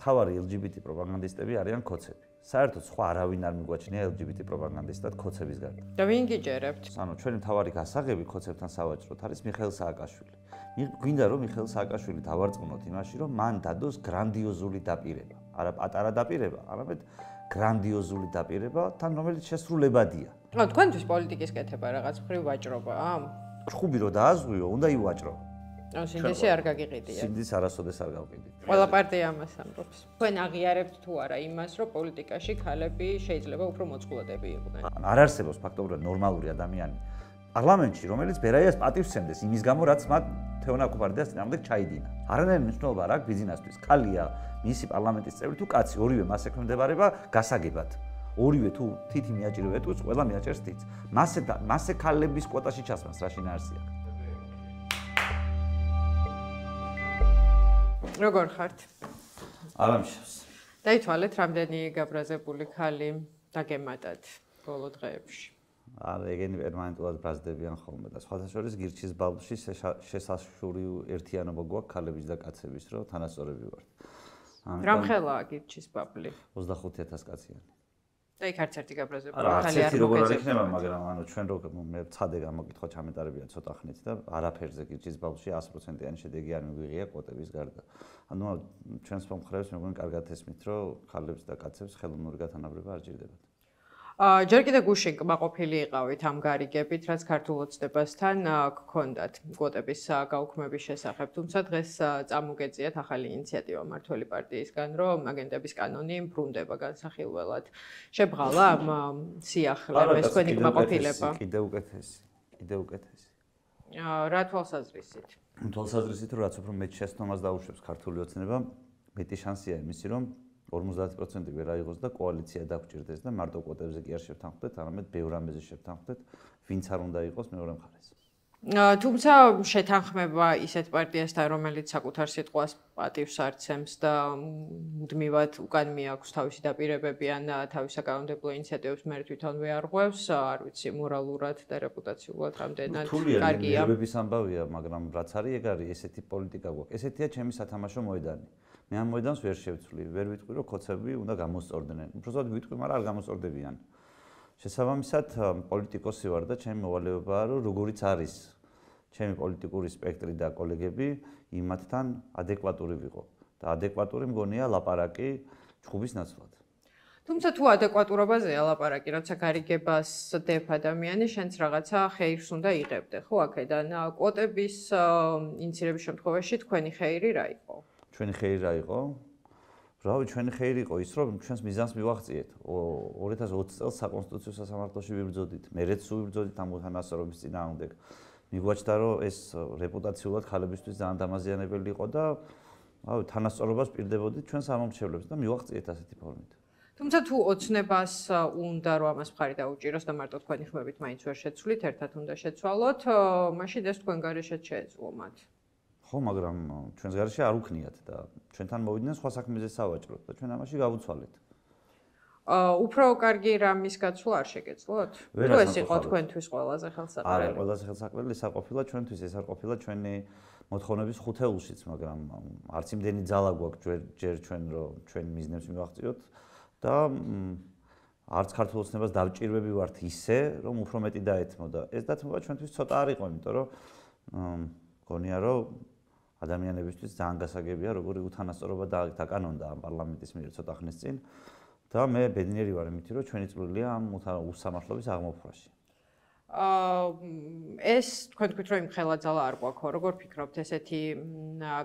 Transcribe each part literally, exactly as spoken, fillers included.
მთავარი ელ ჯი ბი ტი პროპაგანდისტები არიან ქოცები. საერთოდ სხვა არავინ არ მიგვაჩნია ელ ჯი ბი ტი პროპაგანდისტად ქოცების გარდა. და ვინ გიჯერებთ? ანუ ჩვენი მთავარი გასაღები ქოცებთან სავაჭროდ არის მიხეილ სააკაშვილი. გვინდა რომ მიხეილ სააკაშვილი დავარწმუნოთ იმაში, რომ მან დადოს გრანდიოზული დაპირება. არა პატარა დაპირება, არამედ გრანდიოზული დაპირება, თან რომელიც შესრულებადია. ო, თქვენთვის პოლიტიკის კეთება რაღაც მხრივ ვაჭრობაა? ჭხუბი რო დააზღვიო, უნდა ივაჭრო. ო, სინდისი არ გაგიყიდია. სინდისი არასოდეს არ გავყიდით. ყველა პარტია ამას ამბობს. თქვენ აღიარებთ თუ არა იმას, რომ პოლიტიკაში ქალები შეიძლება უფრო მოწყვლადები იყვნენ? არ არსებობს ფაქტობრივად ნორმალური ადამიანი პარლამენტში, რომელიც ბერაიას პატივს სცემდეს იმის გამო, რაც მათ თეონა კუპარდიას წინააღმდეგ ჩაიდინა. არანაირი მნიშვნელობა არ აქვს ბიზნესთვის. ქალია მისი პარლამენტის წევრი თუ კაცი, ორივე მას ექვემდებარება გასაგებად. ორივე თუ თითი მიაჭირებეთ, თუ ყველა მიაჭერს თითს. მასე მასე ქალების კვოტაში ჩასმას რა შინაარსი აქვს. როგორ ხართ? არამშავს. დაითვალეთ რამდენი გაბრაზებული ქალი დაგემატათ ბოლო დღეებში. არა, ეგენი პერმანენტულად ბრაზდებიან ხოლმე და სხვათა შორის გირჩის ბავშვი შესაშური ერთიანობა გვაქვს ქალების და კაცების, რომ თანასწორები ვართ. რამხელაა გირჩის ბაბლი? ოცდახუთი ათასი კაციანი. და იქ არც ერთი გაბრაზებული ქალი არ არ როგორ არ იქნება, მაგრამ ანუ ჩვენ რო მე ცხადე გამოკითხვა ჩამეტარებია ცოტა ხნით და არაფერზე გირჩის ბავშვი ას პროცენტიანი შედეგი არ მიგვიღია კვოტების გარდა. ანუ ჩვენს მომხრეებს მე მგონი კარგად ესმით, რომ ქალებს და კაცებს ხელოვნური გათანაბრება არ ჭირდებათ. ჯერ კიდე გუშინ კმაყოფილი იყავით ამ გარიგებით, რაც ქართულ ოცნებასთან გქონდათ კვოტების გაუქმების შესახებ, თუმცა დღეს წამოგეწიათ ახალი ინიციატივა მმართველი პარტიისგან, რომ აგენტების კანონი ბრუნდება განსახილველად. შებრალა ამ სიახლეს თქვენი კმაყოფილება? კიდე უკეთესი, კიდე უკეთესი. რა თვალსაზრისით? თვალსაზრისით, რომ რაც უფრო მეტ შეცდომას დაუშვებს ქართული ოცნება, მეტი შანსია იმისი, რომ ორმოცდაათი პროცენტი ვერ აიღოს და კოალიცია დაგჭირდეს და მარტო კვოტებზე კი არ შევთანხმდეთ, არამედ ბევრ ამბეზე შევთანხმდეთ, ვინც არ უნდა იყოს მეორე მხარეს. თუმცა შეთანხმება ისეთ პარტიასთან, რომელიც საკუთარ სიტყვას პატივს არცემს და მუდმივად უკან მიაქვს თავისი დაპირებები ან თავის საკანონმდებლო ინიციატივებს მე თვითონ ვეარღვევს, არ ვიცი, მორალურად და რეპუტაციულად რამდენად კარგია. ნერვების ამბავია, მაგრამ რაც არის, ეგ არის ესეთი პოლიტიკა გვაქვს. ესეთია ჩემი სათამაშო მოედანი. მე ამ მოედანს ვერ შევცვლი, ვერ ვიტყვი, რომ ქოცები უნდა გამოსწორდნენ. უბრალოდ ვიტყვი, მაგრამ არ გამოსწორდებიან. შესაბამისად, პოლიტიკოსი ვარ და ჩემი მოვალეობაა, რომ როგორიც არის ჩემი პოლიტიკური სპექტრი და კოლეგები იმათთან ადეკვატური ვიყო. და ადეკვატური მგონია ლაპარაკი ჭხუბის ნაცვლად. თუმცა თუ ადეკვატურობაზეა ლაპარაკი, როცა გარიგებას დებ ადამიანი, შენც რაღაცა ხეირს უნდა იღებდე, ხო, აქედან კვოტების ინიცირების შემთხვევაში თქვენი ხეირი რა იყო? ჩვენი ხეირი რა იყო? რავი, ჩვენი ხეირი იყო ის, რომ ჩვენს მიზანს მივაღწიეთ. ორი ათას ოცი წელს საკონსტიტუციო სასამართლოში ვიბრძოდით. მერეც ვიბრძოდით ამ უთანასწორობის წინააღმდეგ. მიგვაჩნდა, რომ ეს რეპუტაციულად ქალებისთვის ძალიან დამაზიანებელი იყო და რავი, თანასწორობას პირდებოდით ჩვენ სამომრჩევლებს და მივაღწიეთ ასეთი ფორმით. თუმცა თუ ოცნებას უნდა რომ ამას მხარი დაუჭიროს და მარტო თქვენი ხმებით მაინც ვერ შეცვლით, ერთად უნდა შეცვალოთ, მაშინ ეს თქვენ გარეშეც შეეძლო მათ. ხო, მაგრამ ჩვენს გარეშე არ უქნიათ და ჩვენთან მოვიდნენ სხვა საქმეზე სავაჭროდ და ჩვენ ამაში გავუცვალეთ. აა, უფრო კარგი რამის გაცვლა არ შეგეძლოთ? თუ ეს იყო თქვენთვის ყველაზე ხელსაყრელი? არა, ყველაზე ხელსაყრელი ეს არ ყოფილა ჩვენთვის, ეს არ ყოფილა ჩვენი მოთხოვნების ხუთეულშიც, მაგრამ არც იმდენი ძალა გვაქვს ჯერ ჩვენ რომ ჩვენ მიზნებს მივაღწიოთ და არც ქართულ ოცნებას დავჭირვები ვართ ისე, რომ უფრო მეტი დაეთმოდა. ეს დათმობა ჩვენთვის ცოტა არ იყო, იმიტომ რომ მგონია რომ ადამიანებისთვის ძალიან გასაგებია, როგორი უთანასწორობა დაკანონდა ამ პარლამენტის მიერ ცოტა ხნის წინ და მე ბედნიერი ვარ იმით, რომ ჩვენი წვლილია ამ უსამართლობის აღმოფხვაში. აა ეს თქვენ თქვით, რომ იმ ხელა ძალა არ გვაქვს, როგორ ფიქრობთ, ესეთი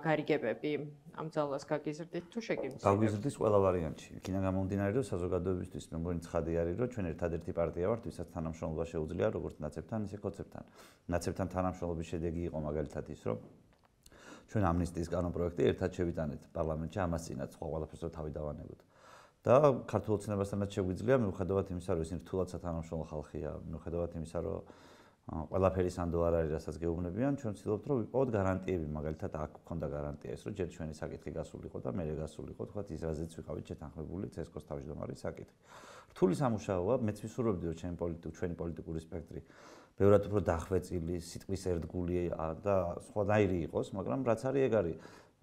გარიგებები ამ ძალას გაგიზრდით თუ შეგიმცირებთ? გაგიზრდის ყველა ვარიანტში. იქიდან გამომდინარე, რომ საზოგადოებისთვის მე მგონი ცხადი არის, რომ ჩვენ ერთადერთი პარტია ვართ, ვისაც თანამშრომლობა შეუძლია როგორც ნაცებთან, ისე ქოცებთან. ნაცებთან თანამშრომლობის შედეგი იყო მაგალითად ის, რომ ჩვენ ამნისტიის კანონპროექტი ერთად შევიტანეთ პარლამენტში, ამას წინათ სხვა ყველაფერს თავი დავანებოთ. და ქართულ ოცნებასთანაც შეგვიძლია, მიუხედავად იმისა, რომ ისინი რთულად სათანამშრომლო ხალხია, მიუხედავად იმისა, რომ ყველაფერი სანდო არ არის, რასაც გეუბნებიან, ჩვენ ვცდილობთ, რომ ვიპოვოთ გარანტიები, მაგალითად აქ გქონდა გარანტია ის, რომ ჯერ ჩვენი საკითხი გასულიყო და მერე გასულიყო, თქვათ ის რაზეც ვიყავით შეთანხმებული ცესკოს თავმჯდომარის საკითხი. რთული სამუშაოა, მეც ვისურვებდი, რომ ჩემი პოლიტიკური, ჩვენი პოლიტიკური სპექტრი ბევრად უფრო დახვეწილი, სიტყვის ერთგული და სხვანაირი იყოს, მაგრამ რაც არის ეგ არის,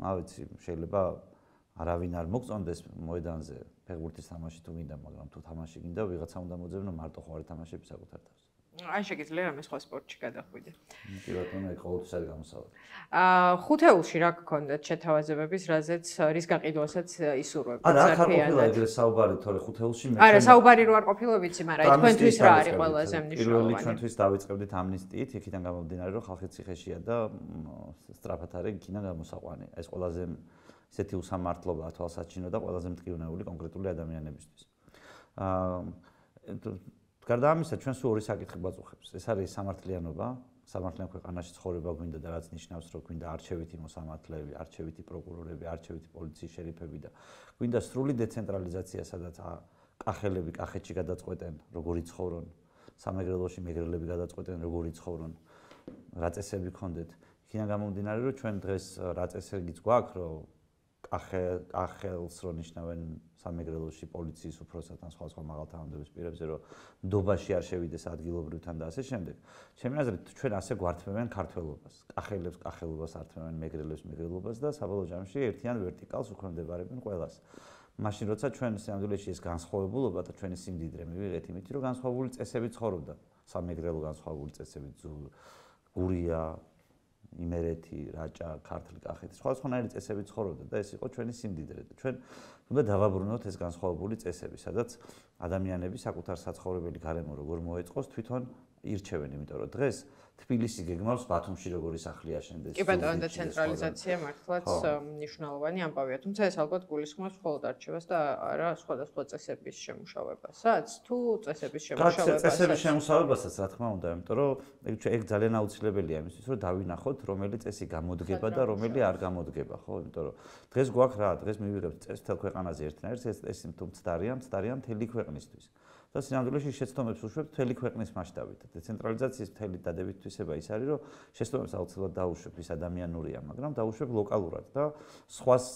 რა ვიცი, შეიძლება არავინ არ მოგწონდეს მოედანზე ფეხბურთის თამაში თუ გინდა, მაგრამ თუ თამაში გინდა, ვიღაცა უნდა მოძებნო მარტო ხო არ თამაშები საკუთარ თავს. აი შეგიძლია რამე სხვა სპორტში გადახვიდე. კი ბატონო, ეგ ყოველთვის არის გამოსავალი. აა ხუთეულში რა გქონდათ შეთავაზებების, რაზეც რის გაყიდვასაც ისურვებთ? არა, აქ არ ყოფილა ეგრე საუბარი, თორე ხუთეულში მე არა, საუბარი რო არ ყოფილა ვიცი, მაგრამ აი თქვენთვის რა არის ყველაზე მნიშვნელოვანი? პირველი ჩვენთვის დავიწყებდით ამნისტიით, იქიდან გამომდინარე, რომ ხალხი ციხეშია და სწრაფად არის იქიდან გამოსაყვანი. ეს ყველაზე ისეთი უსამართლობაა თვალსაჩინო და ყველაზე მტკივნეული კონკრეტული ადამიანებისთვის. აა გარდა ამისა, ჩვენ სულ ორი საკითხი გვაწუხებს. ეს არის სამართლიანობა, სამართლიან ქვეყანაში ცხოვრება გვინდა და რაც ნიშნავს, რომ გვინდა არჩევითი მოსამართლეები, არჩევითი პროკურორები, არჩევითი პოლიციის შერიფები და გვინდა სრული დეცენტრალიზაცია, სადაც კახელები კახეთში გადაწყვეტენ, როგორი ცხოვრონ, სამეგრელოში მეგრელები გადაწყვეტენ, როგორი ცხოვრონ, რა წესები გქონდეთ. იქიდან გამომდინარე, რომ ჩვენ დღეს რა წესებიც გვაქვს, რომ კახელს რო ნიშნავენ სამეგრელოში პოლიციის უფროსად ან სხვა სხვა მაღალთანადობის პირებზე, რომ ნდობაში არ შევიდეს ადგილობრივთან და ასე შემდეგ. ჩემი აზრით, ჩვენ ასე გვართმევენ ქართველობას. კახელებს კახელობას ართმევენ, მეგრელებს მეგრელობას და საბოლოო ჯამში ერთიან ვერტიკალს უქვემდებარებენ ყველას. მაშინ როცა ჩვენ სამდვილეში ეს განსხვავებულობა და ჩვენი სიმდიდრე მივიღეთ იმით, რომ განსხვავებული წესები ცხოვრობდა. სამეგრელო განსხვავებული წესები, გურია, იმერეთი, რაჭა, ქართლი, კახეთი, სხვადასხვანაირი წესები ცხოვრობდა და ეს იყო ჩვენი სიმდიდრე და ჩვენ უნდა დავაბრუნოთ ეს განსხვავებული წესები, სადაც ადამიანები საკუთარ საცხოვრებელი გარემო როგორ მოეწყოს თვითონ ირჩევენ, იმიტომ რომ დღეს თბილისი გეგმავს ბათუმში როგორი სახლი აშენდეს. კი ბატონო, დეცენტრალიზაცია მართლაც მნიშვნელოვანი ამბავია, თუმცა ეს ალბათ გულისხმობს მხოლოდ არჩევას და არა სხვადასხვა წესების შემუშავებასაც, თუ წესების შემუშავებასაც. წესების შემუშავებასაც, რა თქმა უნდა, იმიტომ რომ ეგ ძალიან აუცილებელია იმისთვის, რომ დავინახოთ, რომელი წესი გამოდგება და რომელი არ გამოდგება, ხო? იმიტომ რომ დღეს გვაქვს რა, დღეს მივიღებთ წესს მთელ ქვეყანაზე ერთნაირს, ეს წესი თუ მცდარია, მცდარია მთელი ქვეყნისთვის. და სინამდვილეში შეცდომებს უშვებთ მთელი ქვეყნის მასშტაბით. დეცენტრალიზაციის მთელი დადებით თვისება ის არის, რომ შეცდომებს აუცილებლად დაუშვებ ის ადამიანურია, მაგრამ დაუშვებ ლოკალურად და სხვას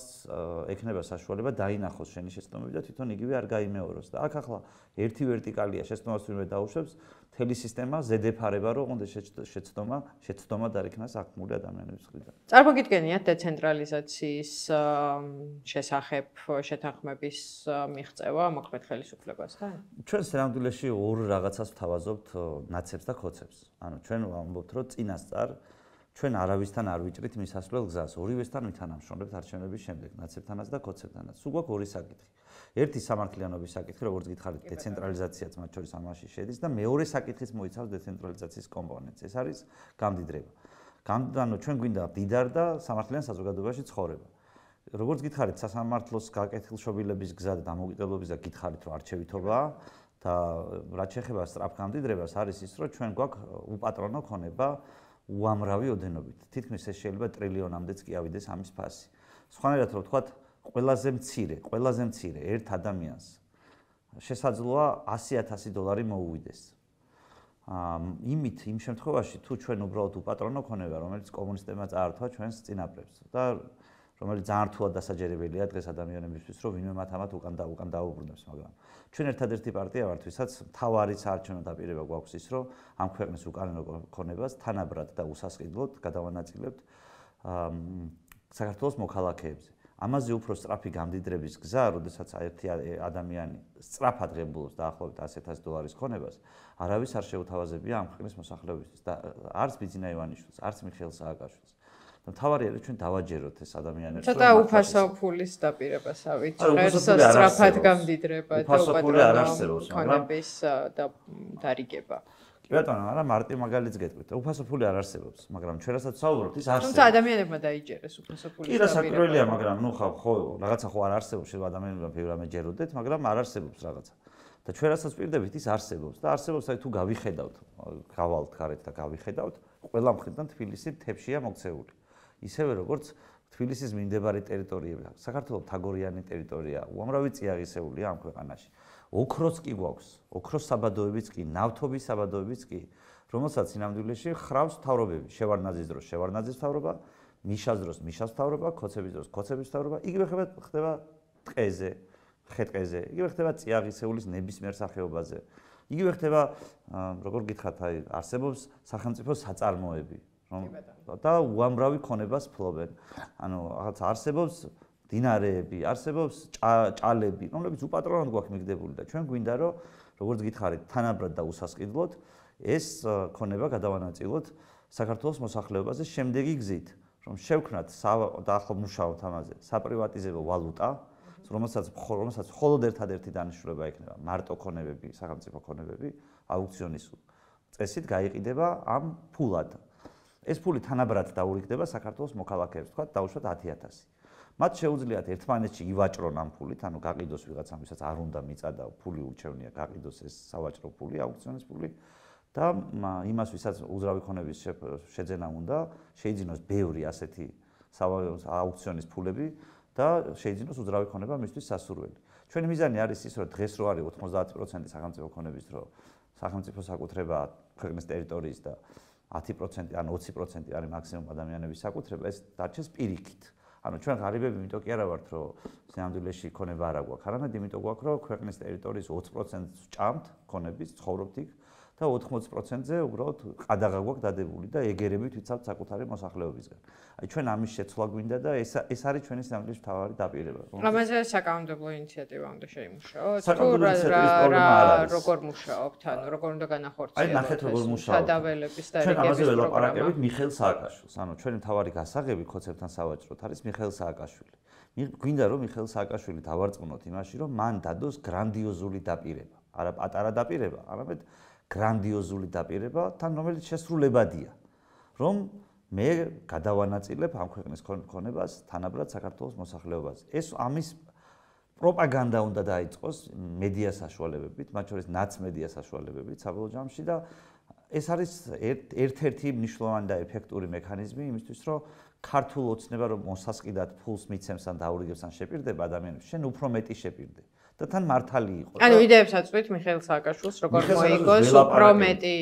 ექნება საშუალება დაინახოს შენი შეცდომები და თვითონ იგივე არ გაიმეოროს. და აქ ახლა ერთი ვერტიკალია შეცდომას ვინმე დაუშვებს, მთელი სისტემა ზედეფარება, რომ ოღონდ შეცდომა, შეცდომა არ იქნას აღქმული ადამიანების მხრიდან. წარმოგიდგენიათ დეცენტრალიზაციის შესახებ შეთანხმების მიღწევა მოქმედ ხელისუფლებასთან? ჩვენ სინამდვილეში ორ რაღაცას ვთავაზობთ, ნაცებს და ქოცებს. ანუ ჩვენ ვამბობთ, რომ წინასწარ ჩვენ არავისთან არ ვიჭრით მისასვლელ გზას, ორივესთან ვითანამშრომლებთ არჩევნების შემდეგ, ნაცებთანაც და ქოცებთანაც. სულ გვაქვს ორი საკითხი. ერთი სამართლიანობის საკითხი, როგორც გითხარით, დეცენტრალიზაციაც მათ შორის ამაში შედის და მეორე საკითხიც მოიცავს დეცენტრალიზაციის კომპონენტს. ეს არის გამდიდრება. ანუ ჩვენ გვინდა მდიდარ და სამართლიან საზოგადოებაში ცხოვრება. როგორც გითხარით, სასამართლოს გაკეთილშობილების გზა და დამოუკიდებლობის და გითხარით, რომ არჩევითობაა და რაც შეეხება სწრაფ გამდიდრებას, არის ის, რომ ჩვენ გვაქვს უპატრონო ქონება უამრავი ოდენობით. თითქმის ეს შეიძლება ტრილიონამდეც კი ავიდეს ამის ფასი. სხვანაირად რომ ვთქვათ, ყველაზე მცირე, ყველაზე მცირე ერთ ადამიანს შესაძლოა ასი ათასი დოლარი მოუვიდეს. იმით იმ შემთხვევაში თუ ჩვენ უბრალოდ უპატრონო ქონება, რომელიც კომუნისტებმა წაართვა ჩვენს წინაპრებს და რომელიც ძალიან რთულად დასაჯერებელია დღეს ადამიანებისთვის, რომ ვინმე მათ ამათ უკან და უკან დაუბრუნებს, მაგრამ ჩვენ ერთადერთი პარტია ვართ, ვისაც მთავარი საარჩევნო დაპირება გვაქვს ის, რომ ამ ქვეყნის უკანონო ქონებას თანაბრად და უსასყიდლოდ გადავანაწილებთ საქართველოს მოქალაქეებზე. ამაზე უფრო სწრაფი გამდიდრების გზა, როდესაც ერთი ადამიანი სწრაფად ღებულობს დაახლოებით ასი ათასი დოლარის ქონებას, არავის არ შეუთავაზებია ამ ქვეყნის მოსახლეობისთვის და არც ბიძინა ივანიშვილს, არც მიხეილ სააკაშვილს. მთავარი არის ჩვენ დავაჯეროთ ეს ადამიანებს. ცოტა უფასო ფულის დაპირებას ავიწყერს, სწრაფად გამდიდრება და უპატრონო ქონების დარიგება. კი ბატონო, არა მარტივ მაგალითს გეტყვით. უფასო ფული არ არსებობს, მაგრამ ჩვენ რასაც ვსაუბრობთ, ის არსებობს. თუმცა ადამიანებმა დაიჯერეს უფასო ფულის დაპირება. კი, რასაკვირველია, მაგრამ ნუ ხო, რაღაცა ხო არ არსებობს, შეიძლება ადამიანებმა ბევრამე ჯეროდეთ, მაგრამ არ არსებობს რაღაცა. და ჩვენ რასაც პირდებით, ის არსებობს და არსებობს, აი თუ გავიხედავთ, გავალთ გარეთ და გავიხედავთ, ყველა მხრიდან თბილისი თებშია მოქცეული. ისევე როგორც თბილისის მიმდებარე ტერიტორიები, საქართველოს თაგორიანი ტერიტორია, უამრავი წიაღისეულია ამ ქვეყანაში. ოქროც კი გვაქვს, ოქროს საბადოებიც კი, ნავთობის საბადოებიც კი, რომელსაც სინამდვილეში ხრავს მთავრობები, შევარდნაძის დროს შევარდნაძის მთავრობა, მიშას დროს მიშას მთავრობა, ქოცების დროს ქოცების მთავრობა, იგივე ხდება ტყეზე, ხე-ტყეზე, იგივე ხდება წიაღისეულის ნებისმიერ სახეობაზე. იგივე ხდება, როგორ გითხრათ, აი არსებობს სახელმწიფო საწარმოები. და უამრავი ქონებას ფლობენ. ანუ რაღაც არსებობს დინარეები, არსებობს ჭალები, რომლებიც უპატრონოდ გვაქვს მიგდებული და ჩვენ გვინდა რომ როგორც გითხარით, თანაბრად და უსასყიდლოდ ეს ქონება გადავანაწილოთ საქართველოს მოსახლეობაზე შემდეგი გზით, რომ შევქმნათ და ახლა მუშაობთ ამაზე, საპრივატიზებო ვალუტა, რომელსაც რომელსაც მხოლოდ ერთადერთი დანიშნულება ექნება მარტო ქონებები, სახელმწიფო ქონებები, აუქციონის წესით გაიყიდება ამ ფულად. ეს ფული თანაბრად დაურიგდება საქართველოს მოქალაქეებს, თქვა დაუშვათ ათი ათასი. მათ შეუძლიათ ერთმანეთში ივაჭრონ ამ ფულით, ანუ გაყიდოს ვიღაცამ, ვისაც არ უნდა მიწადა, ფული ურჩევნია, გაყიდოს ეს სავაჭრო ფული, აუქციონის ფული და იმას, ვისაც უძრავი ქონების შეძენა უნდა, შეიძინოს ბევრი ასეთი აუქციონის ფულები და შეიძინოს უძრავი ქონება მისთვის სასურველი. ჩვენი მიზანი არის ის, რომ დღეს რო არის ოცდაათი პროცენტი სახელმწიფო ქონების, რომ სახელმწიფო საკუთრებაა ქვეყნის ტერიტორიის და ათი პროცენტი ან ოცი პროცენტი არის მაქსიმუმ ადამიანების საკუთრება, ეს დარჩეს პირიქით. ანუ ჩვენ ღარიბები იმიტომ კი არა ვართ, რომ სინამდვილეში ქონება არ აგვაქვს, არამედ იმიტომ გვაქვს, რომ ქვეყნის ტერიტორიის ოცი პროცენტს ვჭამთ ქონების, ცხოვრობთ იქ და ოთხმოცი პროცენტზე უბრალოდ ყადაღა გვაქვს დადებული და ეგერებით ვიცავთ საკუთარი მოსახლეობისგან. აი ჩვენ ამის შეცვლა გვინდა და ეს ეს არის ჩვენი სინამდვილეში მთავარი დაპირება. ამაზე საკანონმდებლო ინიციატივა უნდა შეიმუშაოს. საკანონმდებლო ინიციატივის პრობლემა არ არის. როგორ მუშაობთ, ანუ როგორ უნდა განახორციელოთ? აი ნახეთ როგორ მუშაობთ. სადაველების და ჩვენ ამაზე ველაპარაკებით მიხეილ სააკაშვილს. ანუ ჩვენი მთავარი გასაღები ქოცებთან სავაჭროთ არის მიხეილ სააკაშვილი. გვინდა რომ მიხეილ სააკაშვილი დავარწმუნოთ იმაში, რომ მან დადოს გრანდიოზული დაპირება. არა პატარა დაპირება, არამედ გრანდიოზული დაპირება, თან რომელიც შესრულებადია, რომ მე გადავანაწილებ ამ ქვეყნის ქონებას თანაბრად საქართველოს მოსახლეობაზე. ეს ამის პროპაგანდა უნდა დაიწყოს მედია საშუალებებით, მათ შორის ნაცმედია საშუალებებით საბოლოო ჯამში და ეს არის ერთ-ერთი მნიშვნელოვანი და ეფექტური მექანიზმი იმისთვის, რომ ქართულ ოცნება რომ მოსასყიდად ფულს მიცემს ან დაურიგებს ან შეპირდება ადამიანებს, შენ უფრო მეტი შეპირდე. და თან მართალი იყო. ანუ იდეებს აწვით მიხეილ სააკაშვილს, როგორ მოიგოს უფრო მეტი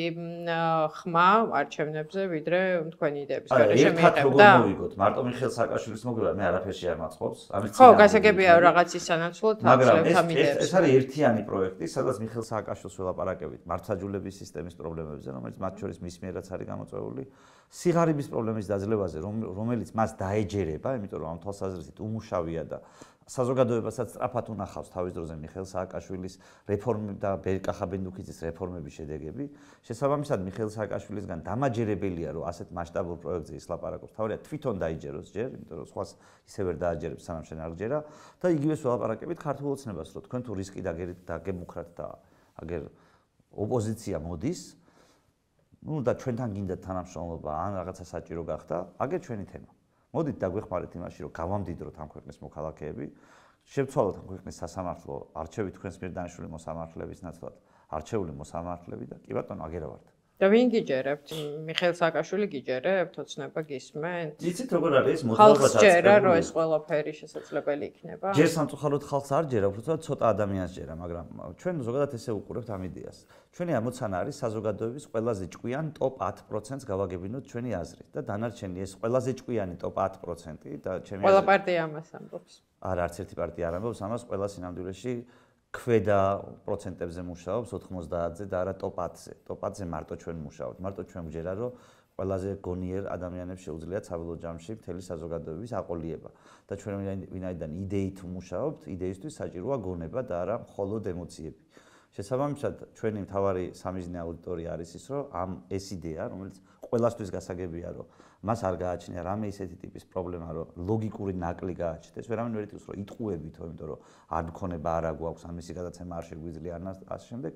ხმა არჩევნებზე, ვიდრე თქვენი იდეების გარეშე მიიღებდა. ერთად როგორ მოიგოთ? მარტო მიხეილ სააკაშვილის მოგება მე არაფერში არ მაწყობს. ამის ხო, გასაგებია რაღაცის სანაცვლოდ აღწევთ ამ იდეებს. ეს არის ერთიანი პროექტი, სადაც მიხეილ სააკაშვილს ველაპარაკებით მართლმსაჯულების სისტემის პრობლემებზე, რომელიც მათ შორის მის მიერაც არის გამოწვეული, სიღარიბის პრობლემის დაძლევაზე, რომელიც მას დაეჯერება, იმიტომ რომ ამ თვალსაზრისით უმუშავია და საზოგადოებასაც სწრაფად უნახავს თავის დროზე მიხეილ სააკაშვილის რეფორმები და ბერკა ხაბენდუქიძის რეფორმების შედეგები. შესაბამისად, მიხეილ სააკაშვილისგან დამაჯერებელია, რომ ასეთ მასშტაბურ პროექტზე ის ლაპარაკობს. თავარია თვითონ დაიჯეროს ჯერ, იმიტომ რომ სხვას ისევ ვერ დააჯერებს, სანამ შენ არ გჯერა და იგივეს ველაპარაკებით ქართულ ოცნებას, რომ თქვენ თუ რისკი დაგერით და გემუქრათ და აგერ ოპოზიცია მოდის, ну და ჩვენთან გინდა თანამშრომლობა ან რაღაცა საჭირო გახდა, აგერ ჩვენი თემა. მოდით დაგვეხმარეთ იმაში, რომ გავამდიდროთ ამ ქვეყნის მოქალაქეები, შევცვალოთ ამ ქვეყნის სასამართლო, არჩევით თქვენს მიერ დანიშნული მოსამართლეების ნაცვლად, არჩეული მოსამართლეები და კი ბატონო, აგერა ვართ. და ვინ გიჯერებთ? მიხეილ სააკაშვილი გიჯერებთ, ოცნება გისმენთ? იცით როგორ არის ეს მოძრაობა ხალხს ჯერა, რომ ეს ყველაფერი შესაძლებელი იქნება? ჯერ სამწუხაროდ ხალხს არ ჯერა, უბრალოდ ცოტა ადამიანს ჯერა, მაგრამ ჩვენ ზოგადად ესე უყურებთ ამ იდეას. ჩვენი ამოცანა არის საზოგადოების ყველაზე ჭკვიან ტოპ ათი პროცენტს გავაგებინოთ ჩვენი აზრით და დანარჩენი ეს ყველაზე ჭკვიანი ტოპ ათი პროცენტი და ჩემი აზრით ყველა პარტია ამას ამბობს. არა, არც ერთი პარტია არ ამბობს ამას, ყველა სინამდვილეში ქვედა პროცენტებზე მუშაობს ოთხმოცდაათზე და არა ტოპ ათზე. ტოპ ათზე მარტო ჩვენ მუშაობთ. მარტო ჩვენ გვჯერა, რომ ყველაზე გონიერ ადამიანებს შეუძლიათ საბოლოო ჯამში მთელი საზოგადოების აყოლიება. და ჩვენ ვინაიდან იდეით მუშაობთ, იდეისთვის საჭიროა გონება და არა მხოლოდ ემოციები. შესაბამისად, ჩვენი მთავარი სამიზნე აუდიტორია არის ის, რომ ამ ეს იდეა, რომელიც ყველასთვის გასაგებია, რომ მას არ გააჩნია რამე ისეთი ტიპის პრობლემა, რომ ლოგიკური ნაკლი გააჩნდეს, ვერავინ ვერ იტყვის, რომ იტყუებითო, იმიტომ რომ არ მქონება არა გვაქვს, ამისი გადაცემა არ შეგვიძლია ან ასე შემდეგ.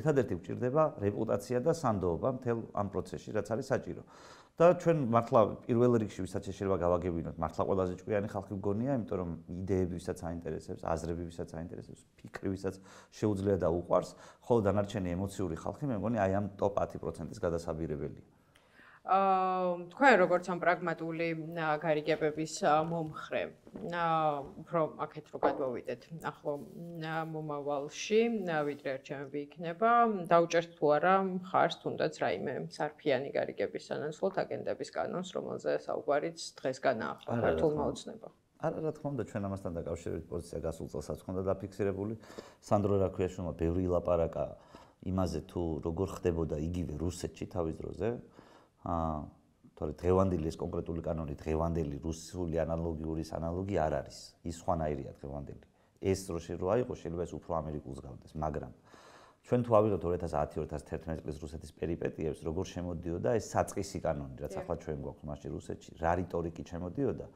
ერთადერთი გვჭირდება რეპუტაცია და სანდოობა მთელ ამ პროცესში, რაც არის საჭირო. და ჩვენ მართლა პირველ რიგში ვისაც შეიძლება გავაგებინოთ, მართლა ყველაზე ჭკვიანი ხალხი გონია, იმიტომ რომ იდეები ვისაც აინტერესებს, აზრები ვისაც აინტერესებს, ფიქრი ვისაც შეუძლია და უყვარს, ხოლო დანარჩენი ემოციური ხალხი მე მგონი აი ამ ტოპ ათი პროცენტის გადასაბირებელია. აა თქვენ როგორც ამ პრაგმატული გარიგებების მომხრე, უფრო აქეთ რო გადმოვიდეთ, ახლო მომავალში, ვიდრე არჩევნები იქნება, დაუჭერთ თუ არა მხარს თუნდაც რაიმე სარფიანი გარიგების სანაცვლოდ აგენტების კანონს, რომელზე საუბარიც დღეს განაახლა ქართულმა ოცნებამ. არა, რა თქმა უნდა, ჩვენ ამასთან დაკავშირებით პოზიცია გასულ წელსაც ჰქონდა დაფიქსირებული. სანდრო რაქვიაშვილმა ბევრი ლაპარაკა იმაზე თუ როგორ ხდებოდა იგივე რუსეთში თავის დროზე. აა თორე დღევანდელი ეს კონკრეტული კანონი დღევანდელი რუსული ანალოგიურის ანალოგი არ არის. ის სხვანაირია დღევანდელი. ეს რო აიყო შეიძლება ეს უფრო ამერიკულს გავდეს, მაგრამ ჩვენ თუ ავიღოთ ორი ათას ათი ორი ათას თერთმეტი წლის რუსეთის პერიპეტიებს, როგორ შემოდიოდა ეს საწყისი კანონი, რაც ახლა ჩვენ გვაქვს მასში რუსეთში, რა რიტორიკით შემოდიოდა.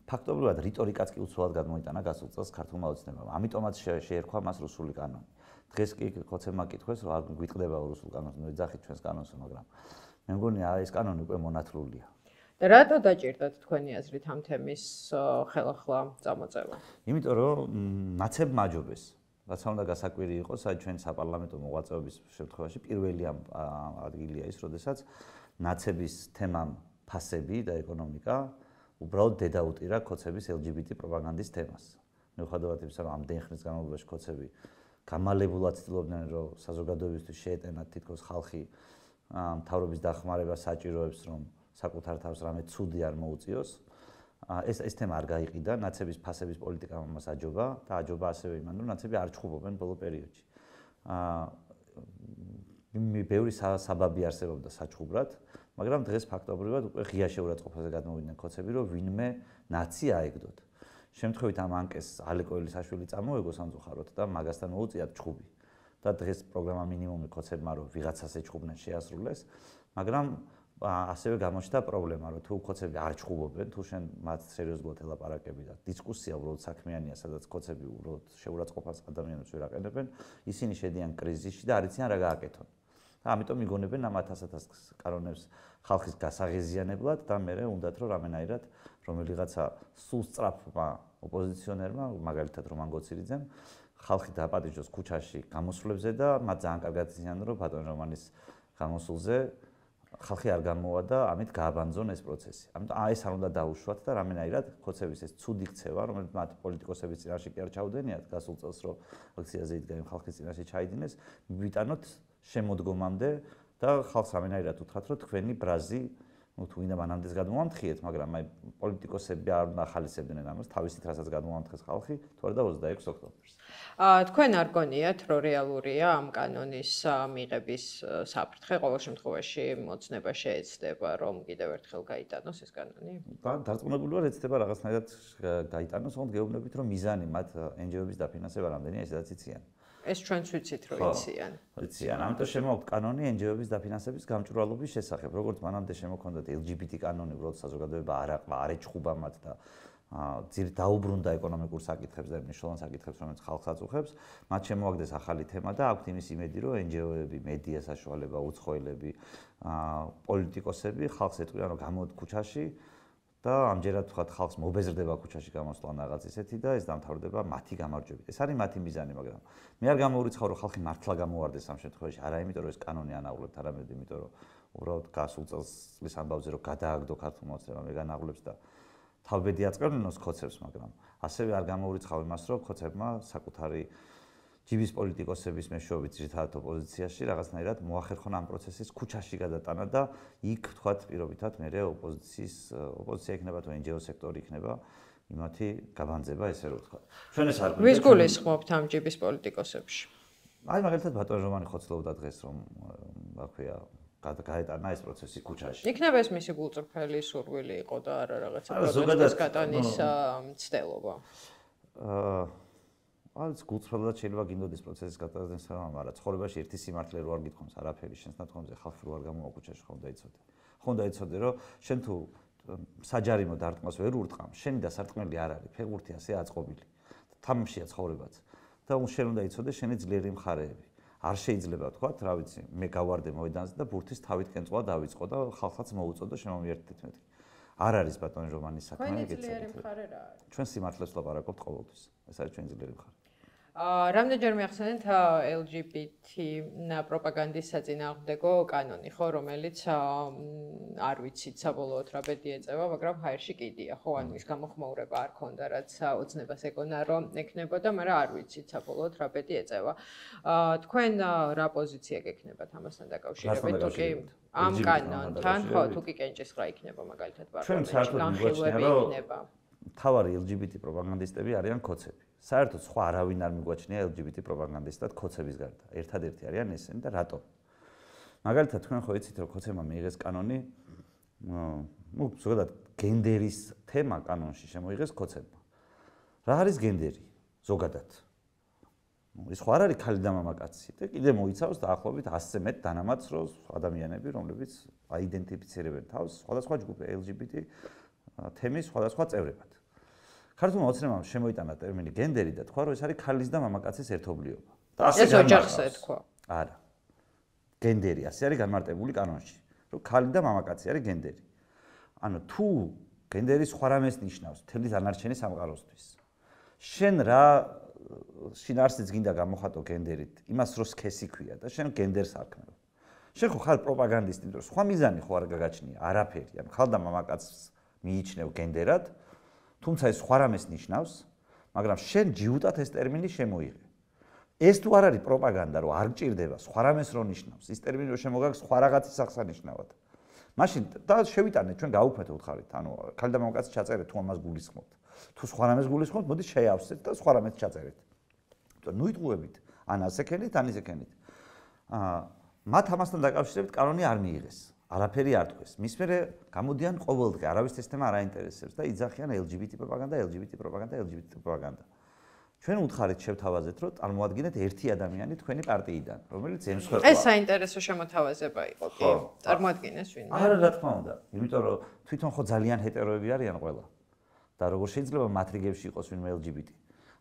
ფაქტობრივად რიტორიკაც კი უცვლად გადმოიტანა გასულ წელს ქართულმა ოცნებამ. ამიტომაც შეერქვა მას რუსული კანონი. დღეს კი ხოცებმა კითხეს, რომ გვიტყდება რუსულ კანონს, ნუ ეძახით ჩვენს კანონსო, მაგრამ მე მგონი ეს კანონი უკვე მონათლულია. და რატო დაჭირდათ თქვენი აზრით ამ თემის ხელახლა წამოწევა? იმიტომ რომ ნაცებ მაჯობეს. რაც უნდა გასაკვირი იყოს, აი ჩვენ საპარლამენტო მოღვაწეობის შემთხვევაში პირველი ადგილია ის, როდესაც ნაცების თემამ ფასები და ეკონომიკა უბრალოდ დედაუტირა ქოცების ელ ჯი ბი ტი პროპაგანდის თემას. მიუხედავად იმისა, რომ ამდენ ხნის განმავლობაში ქოცები გამალებულად ცდილობდნენ, რომ საზოგადოებისთვის შეეტენათ თითქოს ხალხი მთავრობის დახმარება საჭიროებს, რომ საკუთარ თავს რამე ცუდი არ მოუწიოს. ეს ეს თემა არ გაიყიდა, ნაცების ფასების პოლიტიკამ ამას აჯობა და აჯობა ასევე იმან, რომ ნაცები არ ჩხუბობენ ბოლო პერიოდში. აა ბევრი საბაბი არსებობდა საჩხუბრად, მაგრამ დღეს ფაქტობრივად უკვე ღია შეურაცხყოფაზე გადმოვიდნენ ქოცები, რომ ვინმე ნაცი აეგდოთ. შემთხვევით ამ ანკეს ალეკო ელისაშვილი წამოეგო სამწუხაროდ და მაგასთან მოუწიათ ჩხუბი. და დღეს პროგრამა მინიმუმი ქოცებმა რომ ვიღაცას ეჩხუბნენ შეასრულეს, მაგრამ ასევე გამოჩნდა პრობლემა, რომ თუ ქოცები არ ჩხუბობენ, თუ შენ მათ სერიოზულად ელაპარაკები და დისკუსია უბრალოდ საქმიანია, სადაც ქოცები უბრალოდ შეურაცხყოფას ადამიანებს ვერ აყენებენ, ისინი შედიან კრიზისში და არ იციან რა გააკეთონ. და ამიტომ იგონებენ ამ ათას-ათას კანონებს ხალხის გასაღიზიანებლად და მერე უნდათ რომ რამენაირად რომელიღაცა სულ სწრაფმა ოპოზიციონერმა, მაგალითად რომან გოცირიძემ, ხალხი დააპატიჟოს ქუჩაში გამოსვლებზე და მათ ძალიან კარგად იციან რომ ბატონ რომანის გამოსულზე ხალხი არ გამოვა და ამით გააბანძონ ეს პროცესი. ამიტომ ეს არ უნდა დაუშვათ და რამენაირად ქოცების ეს ცუდი ქცევა, რომელიც მათ პოლიტიკოსების წინაშე კი არ ჩაუდენიათ, გასულ წელს რომ აქციაზე იდგა იმ ხალხის წინაშე ჩაიდინეს, მივიტანოთ შემოდგომამდე და ხალხს რამენაირად უთხრათ, რომ თქვენი ბრაზი, ну თუ ვინდა მანამდეც გადმოვამთხიეთ, მაგრამ აი პოლიტიკოსები არ უნდა ახალისებდნენ ამას, თავისით რასაც გადმოვამთხეს ხალხი, თუ არა და ოცდაექვსი ოქტომბერს. აა თქვენ არ გონიათ, რომ რეალურია ამ კანონის მიღების საფრთხე, ყოველ შემთხვევაში მოცნება შეეცდება, რომ კიდევ ერთხელ გაიტანოს ეს კანონი? და დარწმუნებული ვარ, ეცდება რაღაცნაირად გაიტანოს, თუმცა გეუბნებით, რომ მიზანი მათ ენ ჯი ო-ების დაფინანსება რამდენია, ესაც იციან. ეს ჩვენც ვიცით, რომ იციან. იციან. ამიტომ შემოაქვთ კანონი ენ ჯი ო-ების დაფინანსების გამჭვირვალობის შესახებ. როგორც მანამდე შემოქონდათ ელ ჯი ბი ტი კანონი, უბრალოდ საზოგადოება არ აყვა, არ ეჩხუბა მათ და ძირ დაუბრუნდა ეკონომიკურ საკითხებს და მნიშვნელოვან საკითხებს, რომელიც ხალხს აწუხებს, მათ შემოაგდეს ახალი თემა და აქვთ იმის იმედი, რომ ენ ჯი ო-ები, მედია საშუალება, უცხოელები, პოლიტიკოსები ხალხს ეტყვიან, რომ გამოდით ქუჩაში და ამჯერად თქვათ ხალხს მობეზრდება ქუჩაში გამოსვლა რაღაც ისეთი და ეს დამთავრდება მათი გამარჯვებით. ეს არის მათი მიზანი, მაგრამ მე არ გამოვირიცხავ, რომ ხალხი მართლა გამოვარდეს ამ შემთხვევაში, არა იმიტომ, რომ ეს კანონი ანაღლებთ, არამედ იმიტომ, რომ უბრალოდ გასულ წელს წლის ამბავზე რომ გადააგდო ქართულმა ოცნებამ ეგ ანაღლებს და თავბედი აწყებინოს ქოცებს, მაგრამ ასევე არ გამოვირიცხავ იმას, რომ ქოცებმა საკუთარი ჯიბის პოლიტიკოსების მეშვეობით ძირითადად ოპოზიციაში რაღაცნაირად მოახერხონ ამ პროცესის ქუჩაში გადატანა და იქ თქვათ პირობითად მერე ოპოზიციის ოპოზიცია იქნება თუ ენ ჯი ო სექტორი იქნება იმათი გაბანძება ესე რომ ვთქვა. ჩვენ ეს არ გვინდა. ვის გულისხმობთ ამ ჯიბის პოლიტიკოსებში? აი მაგალითად ბატონ რომანი ხოცლობდა დღეს რომ რა ქვია გაეტანა ეს პროცესი ქუჩაში. იქნება ეს მისი გულწრფელი სურვილი იყო და არა რაღაცა პროცესის გატანის მცდელობა. აა ალბათ გულწრფელად შეიძლება გინდოდეს პროცესის გატანის სამ, მაგრამ ცხოვრებაში ერთი სიმართლე რო არ გითხომს არაფერი შენს ნათქვამზე ხალხი რო არ გამოვა ქუჩაში ხომ დაიცოდე. ხომ დაიცოდე რომ შენ თუ საჯარიმო დარტყმას ვერ ურტყამ, შენი დასარტყმელი არ არის, ფეხბურთი ასე აწყობილი. თამაშია ცხოვრებაც. და შენ უნდა იცოდე შენი ძლიერი მხარეები. არ შეიძლება თქვათ, რა ვიცი, მე გავარდე მოედანზე და ბურთის თავით კენწვა დავიწყო და ხალხსაც მოუწოდო შემომიერთდეთ მეთქი. არ არის ბატონი რომანის საქმე, ეგეც ძლიერი მხარე რა არის? ჩვენ სიმართლეს ვლაპარაკობთ ყოველთვის. ეს არის ჩვენი ძლიერი მხარე. აა რამდენჯერ მიახსენეთ ელ ჯი ბი ტი პროპაგანდის საწინააღმდეგო კანონი, ხო, რომელიც არ ვიცით საბოლოოდ რა ბედი ეწევა, მაგრამ ჰაერში კიდია, ხო, ანუ ის გამოხმაურება არ ქონდა, რაც ოცნებას ეკონა, რომ ექნებოდა, მაგრამ არ ვიცით საბოლოოდ რა ბედი ეწევა. აა თქვენ რა პოზიცია გექნებათ ამასთან დაკავშირებით, თუ კი ამ კანონთან, ხო, თუ კი კენჭისყრა იქნება მაგალითად პარლამენტში, განხილვები იქნება. თავარი ელ ჯი ბი ტი პროპაგანდისტები არიან ქოცები. საერთოდ სხვა არავინ არ მიგვაჩნია ელ ჯი ბი ტი პროპაგანდისტად ქოცების გარდა. ერთადერთი არიან ესენი და რატომ? მაგალითად თქვენ ხო იცით რომ ქოცებმა მიიღეს კანონი ну, ზოგადად გენდერის თემა კანონში შემოიღეს ქოცებმა. რა არის გენდერი? ზოგადად. ის ხო არ არის ქალი და მამაკაცი და კიდე მოიცავს დაახლოებით ასზე მეტ დანამატს ადამიანები, რომლებიც აიდენტიფიცირებენ თავს სხვადასხვა ჯგუფ ელ ჯი ბი ტი თემის სხვადასხვა წევრებად. ქართულმა ოცნებამ შემოიტანა ტერმინი გენდერი და თქვა, რომ ეს არის ქალის და მამაკაცის ერთობლიობა. და ასე ეს ოჯახს ეთქვა. არა. გენდერი ასე არის განმარტებული კანონში, რომ ქალი და მამაკაცი არის გენდერი. ანუ თუ გენდერი სხვა რამეს ნიშნავს მთელი დანარჩენი სამყაროსთვის. შენ რა შინაარსიც გინდა გამოხატო გენდერით, იმას რო სქესი ქვია და შენ გენდერს არქმევ. შენ ხო ხარ პროპაგანდისტი, იმიტომ რომ სხვა მიზანი ხო არ გაგაჩნია, არაფერი. ანუ ხალ და მამაკაცს მიიჩნევ გენდერად, თუმცა ეს სხვა რამეს ნიშნავს, მაგრამ შენ ჯიუტად ეს ტერმინი შემოიღე. ეს თუ არ არის პროპაგანდა, რომ არ გჭირდება სხვა რამეს რო ნიშნავს, ის ტერმინი რო შემოგაქვს სხვა რაღაცის აღსანიშნავად. მაშინ და შევიტანეთ ჩვენ გაუქმეთ უთხარით, ანუ ქალი და მამაკაცი ჩაწერეთ თუ ამას გულისხმობთ. თუ სხვა რამეს გულისხმობთ, მოდი შეავსეთ და სხვა რამეს ჩაწერეთ. ნუ იტყუებით, ან ასე ქენით, ან ისე ქენით. აა მათ ამასთან დაკავშირებით კანონი არ მიიღეს. არაფერი არ თქვეს. მის მერე გამოდიან ყოველდღე, არავის ეს თემა არ აინტერესებს და იძახიან ელ ჯი ბი ტი პროპაგანდა, ელ ჯი ბი ტი პროპაგანდა, ელ ჯი ბი ტი პროპაგანდა. ჩვენ უთხარით შევთავაზეთ, რომ წარმოადგენთ ერთი ადამიანი თქვენი პარტიიდან, რომელიც ემსხვერპლა. ეს საინტერესო შემოთავაზება იყო, კი, წარმოადგენეს ვინმე. არა, რა თქმა უნდა, იმიტომ რომ თვითონ ხო ძალიან ჰეტეროები არიან ყველა. და როგორ შეიძლება მათ რიგებში იყოს ვინმე ელ ჯი ბი ტი?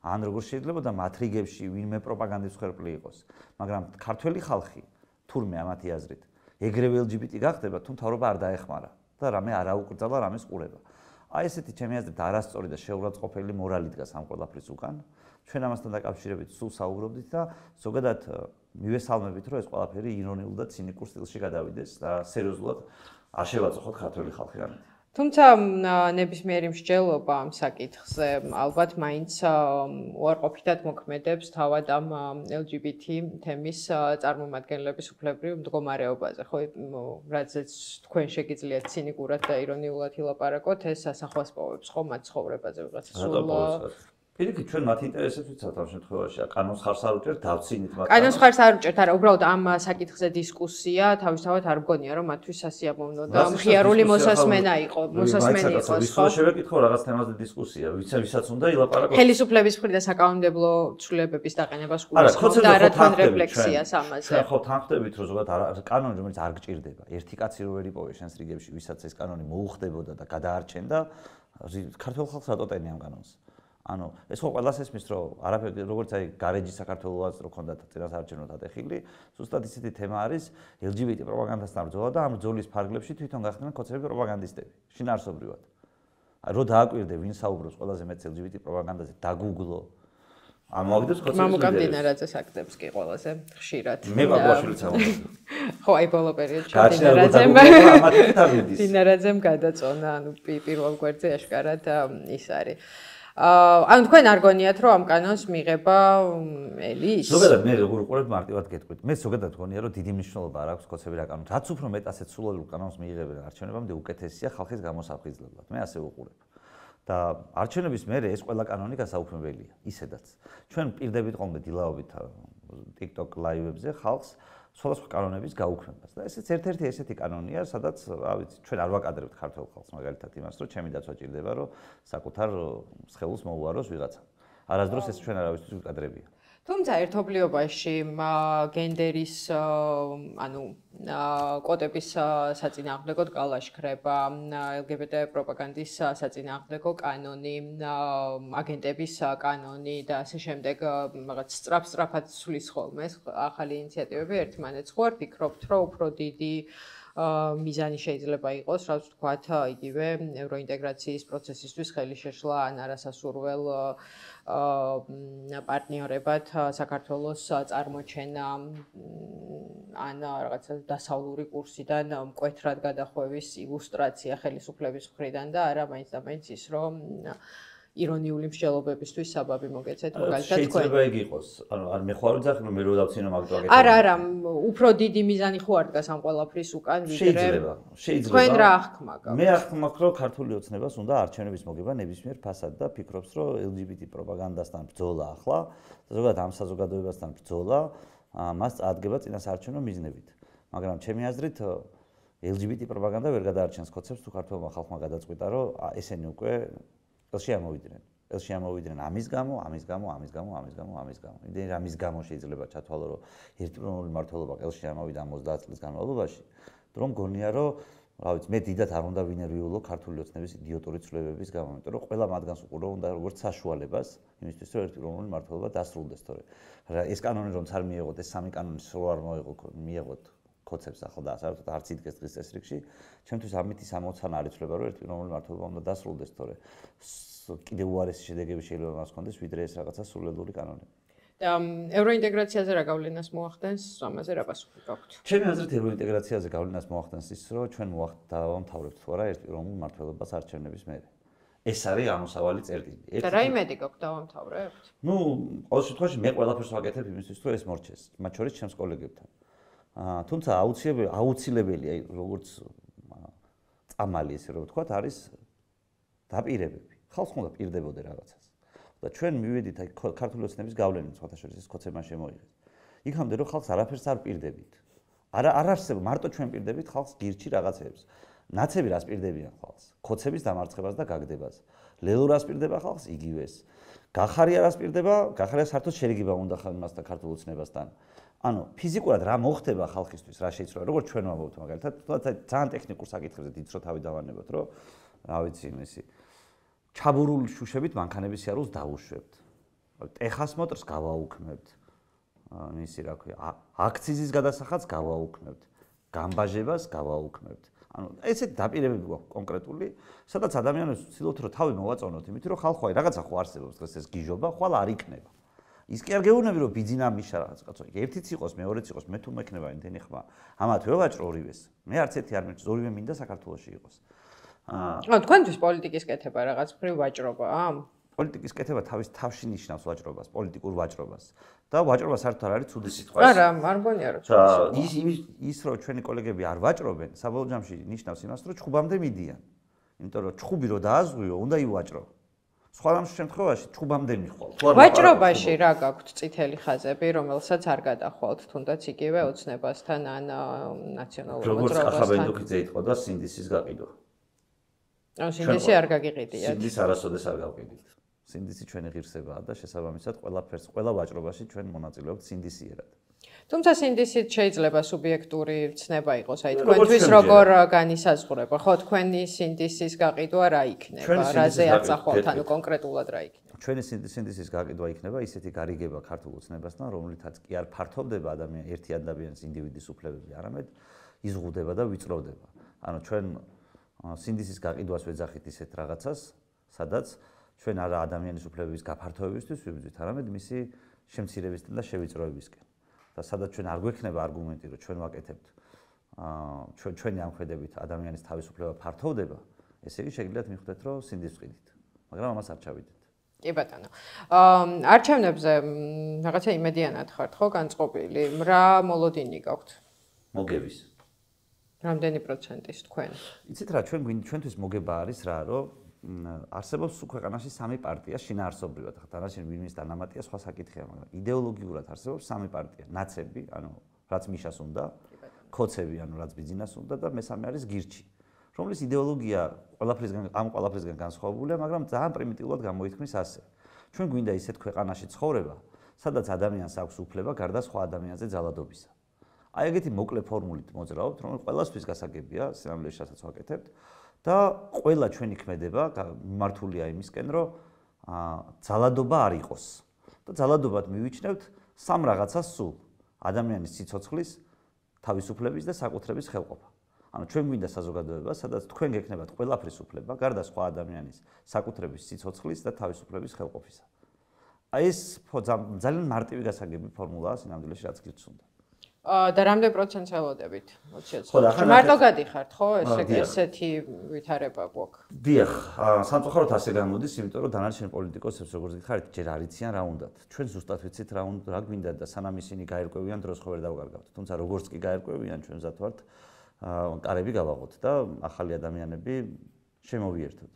ან როგორ შეიძლება და მათ რიგებში ვინმე პროპაგანდის მსხვერპლი იყოს, მაგრამ ქართველი ხალხი თურმე ამათი აზრით ეგრევე ელ ჯი ბი ტი გახდება, თუ მთავრობა არ დაეხმარა და რამე არ აუკრძალა, რამეს ყურება. აი ესეთი ჩემი აზრით არასწორი და შეურაცხყოფელი მორალი დგას ამ ყველაფრის უკან. ჩვენ ამასთან დაკავშირებით სულ საუბრობდით და ზოგადად მივესალმებით, რომ ეს ყველაფერი ირონიულ და ცინიკურ სტილში გადავიდეს და სერიოზულად არ შევაწუხოთ ქართველი ხალხი რამე. თუმცა ნებისმიერი მსჯელობა ამ საკითხზე ალბათ მაინც უარყოფითად მოქმედებს თავად ამ ელ ჯი ბი ტი თემის წარმომადგენლების უფლებრივ მდგომარეობაზე, ხო, რადგან თქვენ შეგიძლიათ ცინიკურად და ირონიულად ილაპარაკოთ, ეს ასახვას პოვებს ხო მათ ცხოვრებაზე ვიღაცა სულ პირიქით ჩვენ მათ ინტერესებს ვიცავთ ამ შემთხვევაში, კანონს ხარს არ უჭერთ, დავცინით მათ. კანონს ხარს არ უჭერთ, არა, უბრალოდ ამ საკითხზე დისკუსია თავისთავად არ მგონია, რომ მათთვის სასიამოვნო და მხიარული მოსასმენა იყო, მოსასმენი იყოს, ხო? შევეკითხო რაღაც თემაზე დისკუსია, ვიცა ვისაც უნდა ილაპარაკოს. ხელისუფლების მხრიდან საკანონმდებლო ცვლილებების დაყენებას გულისხმობ და არა თან რეფლექსიას ამაზე. ჩვენ ხო თანხდებით, რომ ზოგადად კანონი რომელიც არ გჭირდება, ერთი კაცი რო ვერ იპოვე შენს რიგებში, ვისაც ეს კანონი მოუხდებოდა და გადაარჩენდა, ქართულ ხალხს რატო ტენი ამ კანონს? ანუ ეს ხო ყველას ესმის, რომ არაფერი როგორც აი გარეჯი საქართველოს რო ქონდათ წინასაარჩევნო დატეხილი, ზუსტად ისეთი თემა არის ელ ჯი ბი ტი პროპაგანდასთან ბრძოლა და ამ ბრძოლის ფარგლებში თვითონ გახდნენ ქოცები პროპაგანდისტები, შინაარსობრივად. აი რო დააკვირდე ვინ საუბრობს ყველაზე მეტ ელ ჯი ბი ტი პროპაგანდაზე, დაგუგლო. ამოვაგდეს ქოცები. მამუკა მდინარაძეს აქტებს კი ყველაზე ხშირად. მე ბაბაშვილიც ამოვაგდე. ხო, აი ბოლო პერიოდში მდინარაძემ მდინარაძემ გადაწონა, ანუ პირველ გვერდზე აშკარად ის არის. ანუ თქვენ არ გონიათ რომ ამ კანონს მიღება ელის? ზოგადად მე როგორ უყურებ მარტივად გეტყვით. მე ზოგადად გონია რომ დიდი მნიშვნელობა არ აქვს ქოცები რა კანონს. რაც უფრო მეტ ასეთ სულელურ კანონს მიიღებენ არჩევნებამდე უკეთესია ხალხის გამოსაფხიზლებლად. მე ასე ვუყურებ. და არჩევნების მერე ეს ყველა კანონი გასაუქმებელია, ისედაც. ჩვენ პირდებით ყოლმე დილაობით TikTok live-ებზე ხალხს სხვადასხვა კანონების გაუქმებას. და ესეც ერთ-ერთი ესეთი კანონია, სადაც, რა ვიცი, ჩვენ არ ვაკადრებთ ქართულ ხალხს მაგალითად იმას, რომ ჩემი დაცვა ჭირდება, რომ საკუთარ სხეულს მოუაროს ვიღაცა. არასდროს ეს ჩვენ არავისთვის ვიკადრებია. თუმცა ერთობლიობაში გენდერის ანუ კოტების საწინააღმდეგოდ გალაშქრება, ელ ჯი ბი ტი პროპაგანდის საწინააღმდეგო კანონი, აგენტების კანონი და ასე შემდეგ რაღაც სწრაფ-სწრაფად ცვლის ხოლმე ახალი ინიციატივები ერთმანეთს. ხო არ ფიქრობთ, რომ უფრო დიდი მიზანი შეიძლება იყოს, რაც ვთქვათ, იგივე ევროინტეგრაციის პროცესისთვის ხელი შეშლა ან არასასურველ პარტნიორებად საქართველოს წარმოჩენა ან რაღაცა დასავლური კურსიდან მკვეთრად გადახვევის ილუსტრაცია ხელისუფლების მხრიდან და არა მაინც და მაინც ის რომ ირონიული მსჯელობებისთვის საბაბი მოგეცეთ მაგალითად თქვენ. შეიძლება იგი იყოს. ანუ არ მე ხო არ ვძახი რომ მე რო დავცინო მაგ პროექტს. არა, არა, უფრო დიდი მიზანი ხო არ დგას ამ ყველაფრის უკან ვიდრე შეიძლება, შეიძლება. თქვენ რა აღქმა გაქვთ? მე აღქმა მაქვს რომ ქართული ოცნებას უნდა არჩევნების მოგება ნებისმიერ ფასად და ფიქრობს რომ ელ ჯი ბი ტი პროპაგანდასთან ბრძოლა ახლა, ზოგადად ამ საზოგადოებასთან ბრძოლა, მას წარადგება წინასაარჩევნო მიზნებით. მაგრამ ჩემი აზრით ელ ჯი ბი ტი პროპაგანდა ვერ გადაარჩენს ქოცებს თუ ქართულმა ხალხმა გადაწყვიტა რომ ესენი უკვე ელში ამოვიდნენ. ელში ამოვიდნენ ამის გამო, ამის გამო, ამის გამო, ამის გამო, ამის გამო. იმდენი რამის გამო შეიძლება ჩათვალო რომ ერთპიროვნული მმართველობა ელში ამოვიდა ოცდაათ წლის განმავლობაში, რომ გონია რომ რა ვიცი, მე დიდად არ უნდა ვინერვიულო ქართული ოცნების იდიოტური ცვლილებების გამო, იმიტომ რომ ყველა მათგანს უყურო უნდა როგორც საშუალებას იმისთვის რომ ერთპიროვნული მმართველობა დასრულდეს, თორე ეს კანონი რომც არ მიიღოთ, ეს სამი კანონი სულ არ მოიღო, მიიღოთ ქოცებს ახლა და საერთოდ არც იდგეს დღის წესრიგში, ჩემთვის ამითი სამოცანა არ იცვლება რომ ერთპიროვნული მმართველობა უნდა დასრულდეს, თორე კიდევ უარესი შედეგები შეიძლება მას ჰქონდეს, ვიდრე ეს რაღაცა სულელური კანონი. და ევროინტეგრაციაზე რა გავლენას მოახდენს, ამაზე რა პასუხი გაქვთ? ჩემი აზრით ევროინტეგრაციაზე გავლენას მოახდენს ის, რომ ჩვენ დავამთავრებთ თუ არა ერთპიროვნულ მმართველობას არჩევნების მერე. ეს არის ამოსავალი წერტილი. და რა იმედი გაქვთ დავამთავრებთ? ნუ, ყოველ შემთხვევაში მე ყველაფერს ვაკეთებ იმისთვის, რომ ეს მორჩეს, მათ შორის ჩემს კოლეგებთან. აა, თუმცა აუცილებელი აუცილებელია როგორც წამალი ესე რომ ვთქვათ, არის დაპირებები. ხალხს უნდა პირდებოდე რაღაცას. და ჩვენ მივედით აი ქართული ოცნების გავლენით, სხვათა შორის ეს ქოცებმა შემოიღეს. იქამდე რომ ხალხს არაფერს არ პირდებით. არა არ არსებობს მარტო ჩვენ პირდებით ხალხს გირჩი რაღაცებს. ნაცები რას პირდებიან ხალხს? ქოცების დამარცხებას და გაგდებას. ლელო რას პირდება ხალხს? იგივეს. გახარია რას პირდება? გახარია საერთოდ შერიგება უნდა ხალხთან ქართულ ოცნებასთან. ანუ ფიზიკურად რა მოხდება ხალხისთვის, რა შეიცვალა, როგორც ჩვენ ვამბობთ მაგალითად, თუმცა ძალიან ტექნიკურ საკითხებზე დიდ რო თავი დავანებოთ, რომ რა ვიცი, იმისი ჩაბურული შუშებით მანქანების სიარულს დავუშვებთ. ტეხას მოტრს გავაუქმებთ. ისე რა ქვია, აქციზის გადასახადს გავაუქმებთ. გამბაჟებას გავაუქმებთ. ანუ ესეთ დაპირებები გვაქვს კონკრეტული, სადაც ადამიანებს ვცდილობთ რომ თავი მოვაწონოთ, იმიტომ რომ ხალხო აი რაღაცა ხო არსებობს დღეს ეს გიჟობა, ხვალ არ იქნება. ის კი არ გეუბნები რომ ბიძინა მიშა რაღაც კაცო, ერთიც იყოს, მეორეც იყოს, მე თუ მექნება იმდენი ხმა. ამათ ვევაჭრო ორივეს. მე არც ერთი არ მეჭს, ორივე მინდა საქართველოში იყოს. აა, თქვენთვის პოლიტიკის კეთება რაღაც მხრივ ვაჭრობაა? პოლიტიკის კეთება თავის თავში ნიშნავს ვაჭრობას, პოლიტიკურ ვაჭრობას. და ვაჭრობა საერთოდ არ არის ცუდი სიტყვა. არა, არ მგონია რომ ცუდი სიტყვა. ის ის რომ ჩვენი კოლეგები არ ვაჭრობენ, საბოლოო ჯამში ნიშნავს იმას, რომ ჩხუბამდე მიდიან. იმიტომ რომ ჩხუბი რო დააზღვიო, უნდა ივაჭრო. სხვა შემთხვევაში ჩხუბამდე მიხვალ. ვაჭრობაში რა გაქვთ წითელი ხაზები, რომელსაც არ გადახვალთ, თუნდაც იგივე ოცნებასთან ან ნაციონალურ მოძრაობასთან? როგორც კახაბენდოქიძე იტყოდა, სინდისის გაყიდვა. ანუ სინდისი არ გაგიყიდიათ. სინდისი არასოდეს არ გავყიდით. სინდისი ჩვენი ღირსებაა და შესაბამისად ყველაფერს, ყველა ვაჭრობაში ჩვენ მონაწილეობთ სინდისიერად. თუმცა სინდისით შეიძლება სუბიექტური ცნება იყოს, აი თქვენთვის როგორ განისაზღვრება, ხო, თქვენი სინდისის გაყიდვა რა იქნება, რაზე აწახვალთ, ანუ კონკრეტულად რა იქნება? ჩვენი სინდისის გაყიდვა იქნება ისეთი გარიგება ქართულ ოცნებასთან, რომლითაც კი არ ფართოვდება ადამიანი ერთი ადამიანის ინდივიდის უფლებები, არამედ იზღუდება და ვიწროვდება. ანუ ჩვენ სინდისის გაყიდვას ვეძახით ისეთ რაღაცას, სადაც ჩვენ არა ადამიანის უფლებების გაფართოებისთვის ვიბრძვით, არამედ მისი შემცირებისკენ და შევიწროებისკენ. და სადაც ჩვენ არ გვექნება არგუმენტი, რომ ჩვენ ვაკეთებთ აა ჩვენ ჩვენი ამხედებით ადამიანის თავისუფლება ფართოვდება, ესე იგი შეგიძლიათ მიხვდეთ, რომ სინდისს ვყიდით. მაგრამ ამას არ ჩავიდეთ. კი ბატონო. აა არჩევნებზე რაღაცა იმედიანად ხართ, ხო, განწყობილი? რა მოლოდინი გაქვთ? მოგების. რამდენი პროცენტის თქვენ? იცით რა, ჩვენ ჩვენთვის მოგება არის რა, რომ არსებობს ქვეყანაში სამი პარტია შინაარსობრივად, ხა დანარჩენი ვინმის დანამატია სხვა საკითხია, მაგრამ იდეოლოგიურად არსებობს სამი პარტია, ნაცები, ანუ რაც მიშას უნდა, ქოცები, ანუ რაც ბიძინას უნდა და მესამე არის გირჩი, რომლის იდეოლოგია ყველაფრისგან ამ ყველაფრისგან განსხვავებულია, მაგრამ ძალიან პრიმიტიულად გამოითქმის ასე. ჩვენ გვინდა ისეთ ქვეყანაში ცხოვრება, სადაც ადამიანს აქვს უფლება გარდა სხვა ადამიანზე ძალადობისა. აი ეგეთი მოკლე ფორმულით მოძრაობთ, რომ ყველასთვის გასაგებია, სინამდვილეში რასაც ვაკეთებთ. და ყველა ჩვენი ქმედება მიმართულია იმისკენ, რომ ძალადობა არ იყოს. და ძალადობად მივიჩნევთ სამ რაღაცას სულ: ადამიანის სიცოცხლის, თავისუფლების და საკუთრების ხელყოფა. ანუ ჩვენ გვინდა საზოგადოება, სადაც თქვენ გექნებათ ყველაფრის უფლება, გარდა სხვა ადამიანის საკუთრების, სიცოცხლის და თავისუფლების ხელყოფისა. აი ეს ძალიან მარტივი გასაგები ფორმულაა სინამდვილეში, რაც გირჩს უნდა. და რამდენ პროცენტს ელოდებით? მარტო გადიხართ, ხო? ესეთი ვითარება გვაქვს. დიახ, სამწუხაროდ ასე გამოდის, იმიტომ რომ დანარჩენ პოლიტიკოსებს როგორც გითხარით, ჯერ არ იციან რა უნდათ. ჩვენ ზუსტად ვიცით რა უნდა, რა გვინდა და სანამ ისინი გაერკვევიან, დროს ხო ვერ დავკარგავთ. თუმცა როგორც კი გაერკვევიან, ჩვენ მზად ვართ კარები გავაღოთ და ახალი ადამიანები შემოვიერთოთ.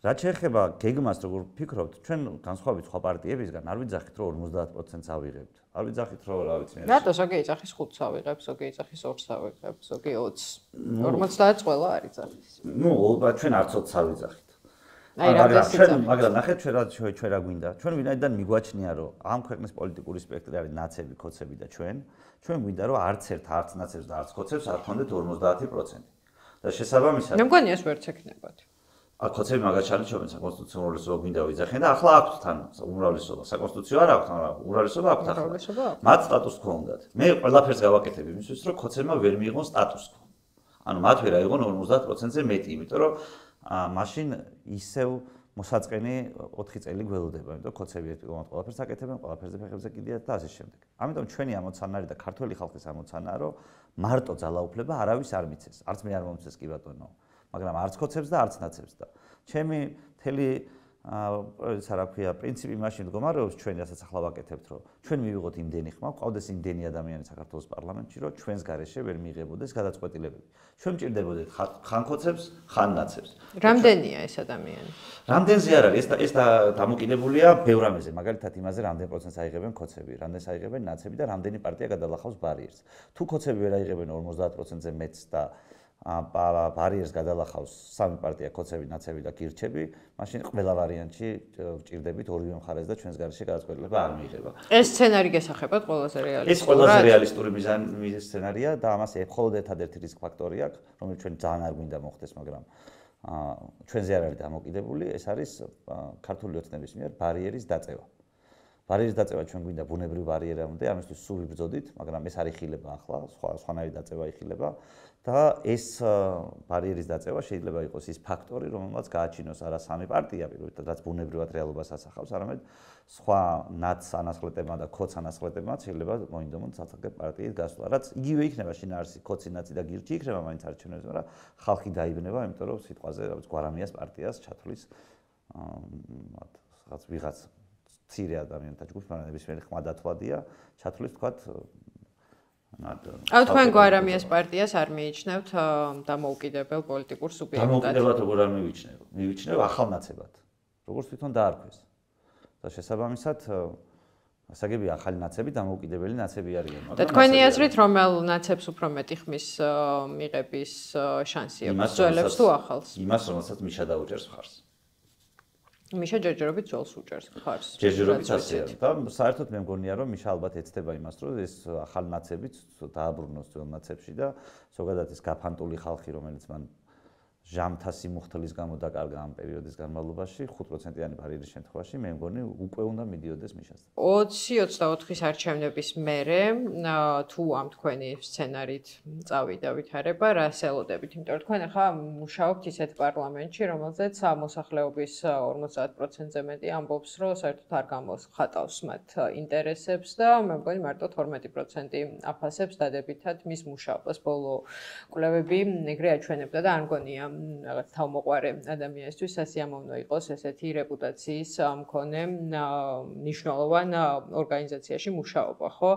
რაც შეეხება გეგმას, როგორ ფიქრობთ, ჩვენ განსხვავებით სხვა პარტიებისგან არ ვიძახით, რომ ორმოცდაათ პროცენტს ავიღებთ. არ ვიძახით, რომ რა ვიცი, რატო ზოგი იძახის ხუთს ავიღებს, ზოგი იძახის ორს ავიღებს, ზოგი ოცს. ორმოცდაათს ყველა არ იძახის. ნუ, ჩვენ არც ოცს არ ვიძახით. აი რამდენს ჩვენ, მაგრამ ნახეთ ჩვენ რა ჩვენ რა გვინდა. ჩვენ ვინაიდან მიგვაჩნია, რომ ამ ქვეყნის პოლიტიკური სპექტრი არის ნაცები, კოცები და ჩვენ, ჩვენ გვინდა, რომ არც ერთ არც ნაცებს და არც კოცებს არ ქონდეთ ორმოცდაათი პროცენტი. და შესაბამისად მე მგონია ეს ვერც ექნებათ. აქ კოცები მაგას ჩარჩობენ საკონსტიტუციო უმრავლესობა გვინდა ვიძახენ და ახლა აქვთ თან უმრავლესობა. საკონსტიტუციო არ აქვთ, მაგრამ უმრავლესობა აქვთ ახლა. მათ სტატუს quo უნდათ. მე ყველაფერს გავაკეთებ იმისთვის, რომ კოცებმა ვერ მიიღონ სტატუს quo. ანუ მათ ვერ აიღონ ორმოცდაათ პროცენტზე მეტი, იმიტომ რომ მაშინ ისევ მოსაწყენი ოთხი წელი გველოდება, იმიტომ რომ კოცები ერთგვარად ყველაფერს აკეთებენ, ყველაფერზე ფეხებზე კიდიათ და ასე შემდეგ. ამიტომ ჩვენი ამოცანა არის და ქართული ხალხის ამოცანაა, რომ მარტო ძალაუფლება არავის არ მიცეს. არც მე არ მომცეს კი ბატონო. მაგრამ არც კოცებს და არც ნაცებს და ჩემი მთელი ისა რა ქვია პრინციპი მაშინ მდგომარეობს ჩვენ რასაც ახლა ვაკეთებთ რომ ჩვენ მივიღოთ იმდენი ხმა ყავდეს იმდენი ადამიანი საქართველოს პარლამენტში რომ ჩვენს გარეშე ვერ მიიღებოდეს გადაწყვეტილებები ჩვენ მჭირდებოდეთ ხან კოცებს ხან ნაცებს რამდენია ეს ადამიანი რამდენზე არ არის ეს ეს დამოკიდებულია ბევრ რამეზე მაგალითად იმაზე რამდენ პროცენტს აიღებენ კოცები რამდენს აიღებენ ნაცები და რამდენი პარტია გადალახავს ბარიერს თუ კოცები ვერ აიღებენ ორმოცდაათ პროცენტზე მეტს და ბარიერს გადალახავს სამი პარტია კოცები, ნაცები და გირჩები, მაშინ ყველა ვარიანტში ვჭირდებით ორივე მხარეს და ჩვენს გარეშე გადაწყვეტილება არ მიიღება. ეს სცენარი გესახებათ ყველაზე რეალისტური. ეს ყველაზე რეალისტური მიზანი სცენარია და ამას მხოლოდ ერთადერთი რისკ ფაქტორი აქვს, რომელიც ჩვენ ძალიან არ გვინდა მოხდეს, მაგრამ ჩვენზე არ არის დამოკიდებული, ეს არის ქართული ოცნების მიერ ბარიერის დაწევა. ბარიერის დაწევა ჩვენ გვინდა ბუნებრივ ბარიერამდე, ამისთვის სულ ვიბრძოდით, მაგრამ ეს არ იხილება ახლა, სხვა სხვანაირი დაწევა იხილება. და ეს ბარიერის დაწევა შეიძლება იყოს ის ფაქტორი, რომელმაც გააჩინოს არა სამი პარტია, პირველად, რაც ბუნებრივად რეალობას ასახავს, არამედ სხვა ნაც ანასხლეტებმა და ქოც ანასხლეტებმა შეიძლება მოინდომონ სასახელო პარტიის გასვლა, რაც იგივე იქნება შინაარსი, ქოცი, ნაცი და გირჩი იქნება მაინც არჩევნებზე, მაგრამ ხალხი დაიბნება, იმიტომ რომ სიტყვაზე, რაც გვარამიას პარტიას ჩათვლის რაღაც ვიღაც ცირე ადამიანთა ჯგუფს, მაგრამ ნებისმიერი ხმა დათვლადია, ჩათვლის თქვათ აუ თქვენ გვარამიას პარტიას არ მიიჩნევთ დამოუკიდებელ პოლიტიკურ სუბიექტად. დამოუკიდებლად როგორ არ მივიჩნევ? მივიჩნევ ახალნაცებად. როგორც თვითონ დაარქვეს. და შესაბამისად ასაგები ახალი ნაცები დამოუკიდებელი ნაცები არიან. და თქვენი აზრით რომელ ნაცებს უფრო მეტი ხმის მიღების შანსი აქვს? ძველებს თუ ახალს? იმას, რომელსაც მიშა დაუჭერს მხარს. მიშა ჯერჯერობით ძველს უჭერს მხარს. ჯერჯერობით ასეა. და საერთოდ მე მგონია რომ მიშა ალბათ ეცდება იმას, რომ ეს ახალი ნაცებიც დააბრუნოს ძველ ნაცებში და ზოგადად ეს გაფანტული ხალხი, რომელიც მან ჟამთა სიმუხთლის გამო დაკარგა ამ პერიოდის განმავლობაში, ხუთ პროცენტიანი ბარიერის შემთხვევაში მე მგონი უკვე უნდა მიდიოდეს მიშასთან. ოცი ოცდაოთხის არჩევნების მერე თუ ამ თქვენი სცენარით წავიდა ვითარება, რას ელოდებით? იმიტომ რომ თქვენ ახლა მუშაობთ ისეთ პარლამენტში, რომელზეც მოსახლეობის ორმოცდაათ პროცენტზე მეტი ამბობს, რომ საერთოდ არ გამოხატავს მათ ინტერესებს და მე მგონი მარტო თორმეტი პროცენტი აფასებს დადებითად მის მუშაობას. ბოლო კვლევები ეგრე აჩვენებდა და არ მგონია რაღაც თავმოყარე ადამიანისთვის სასიამოვნო იყოს ესეთი რეპუტაციის მქონე მნიშვნელოვან ორგანიზაციაში მუშაობა, ხო?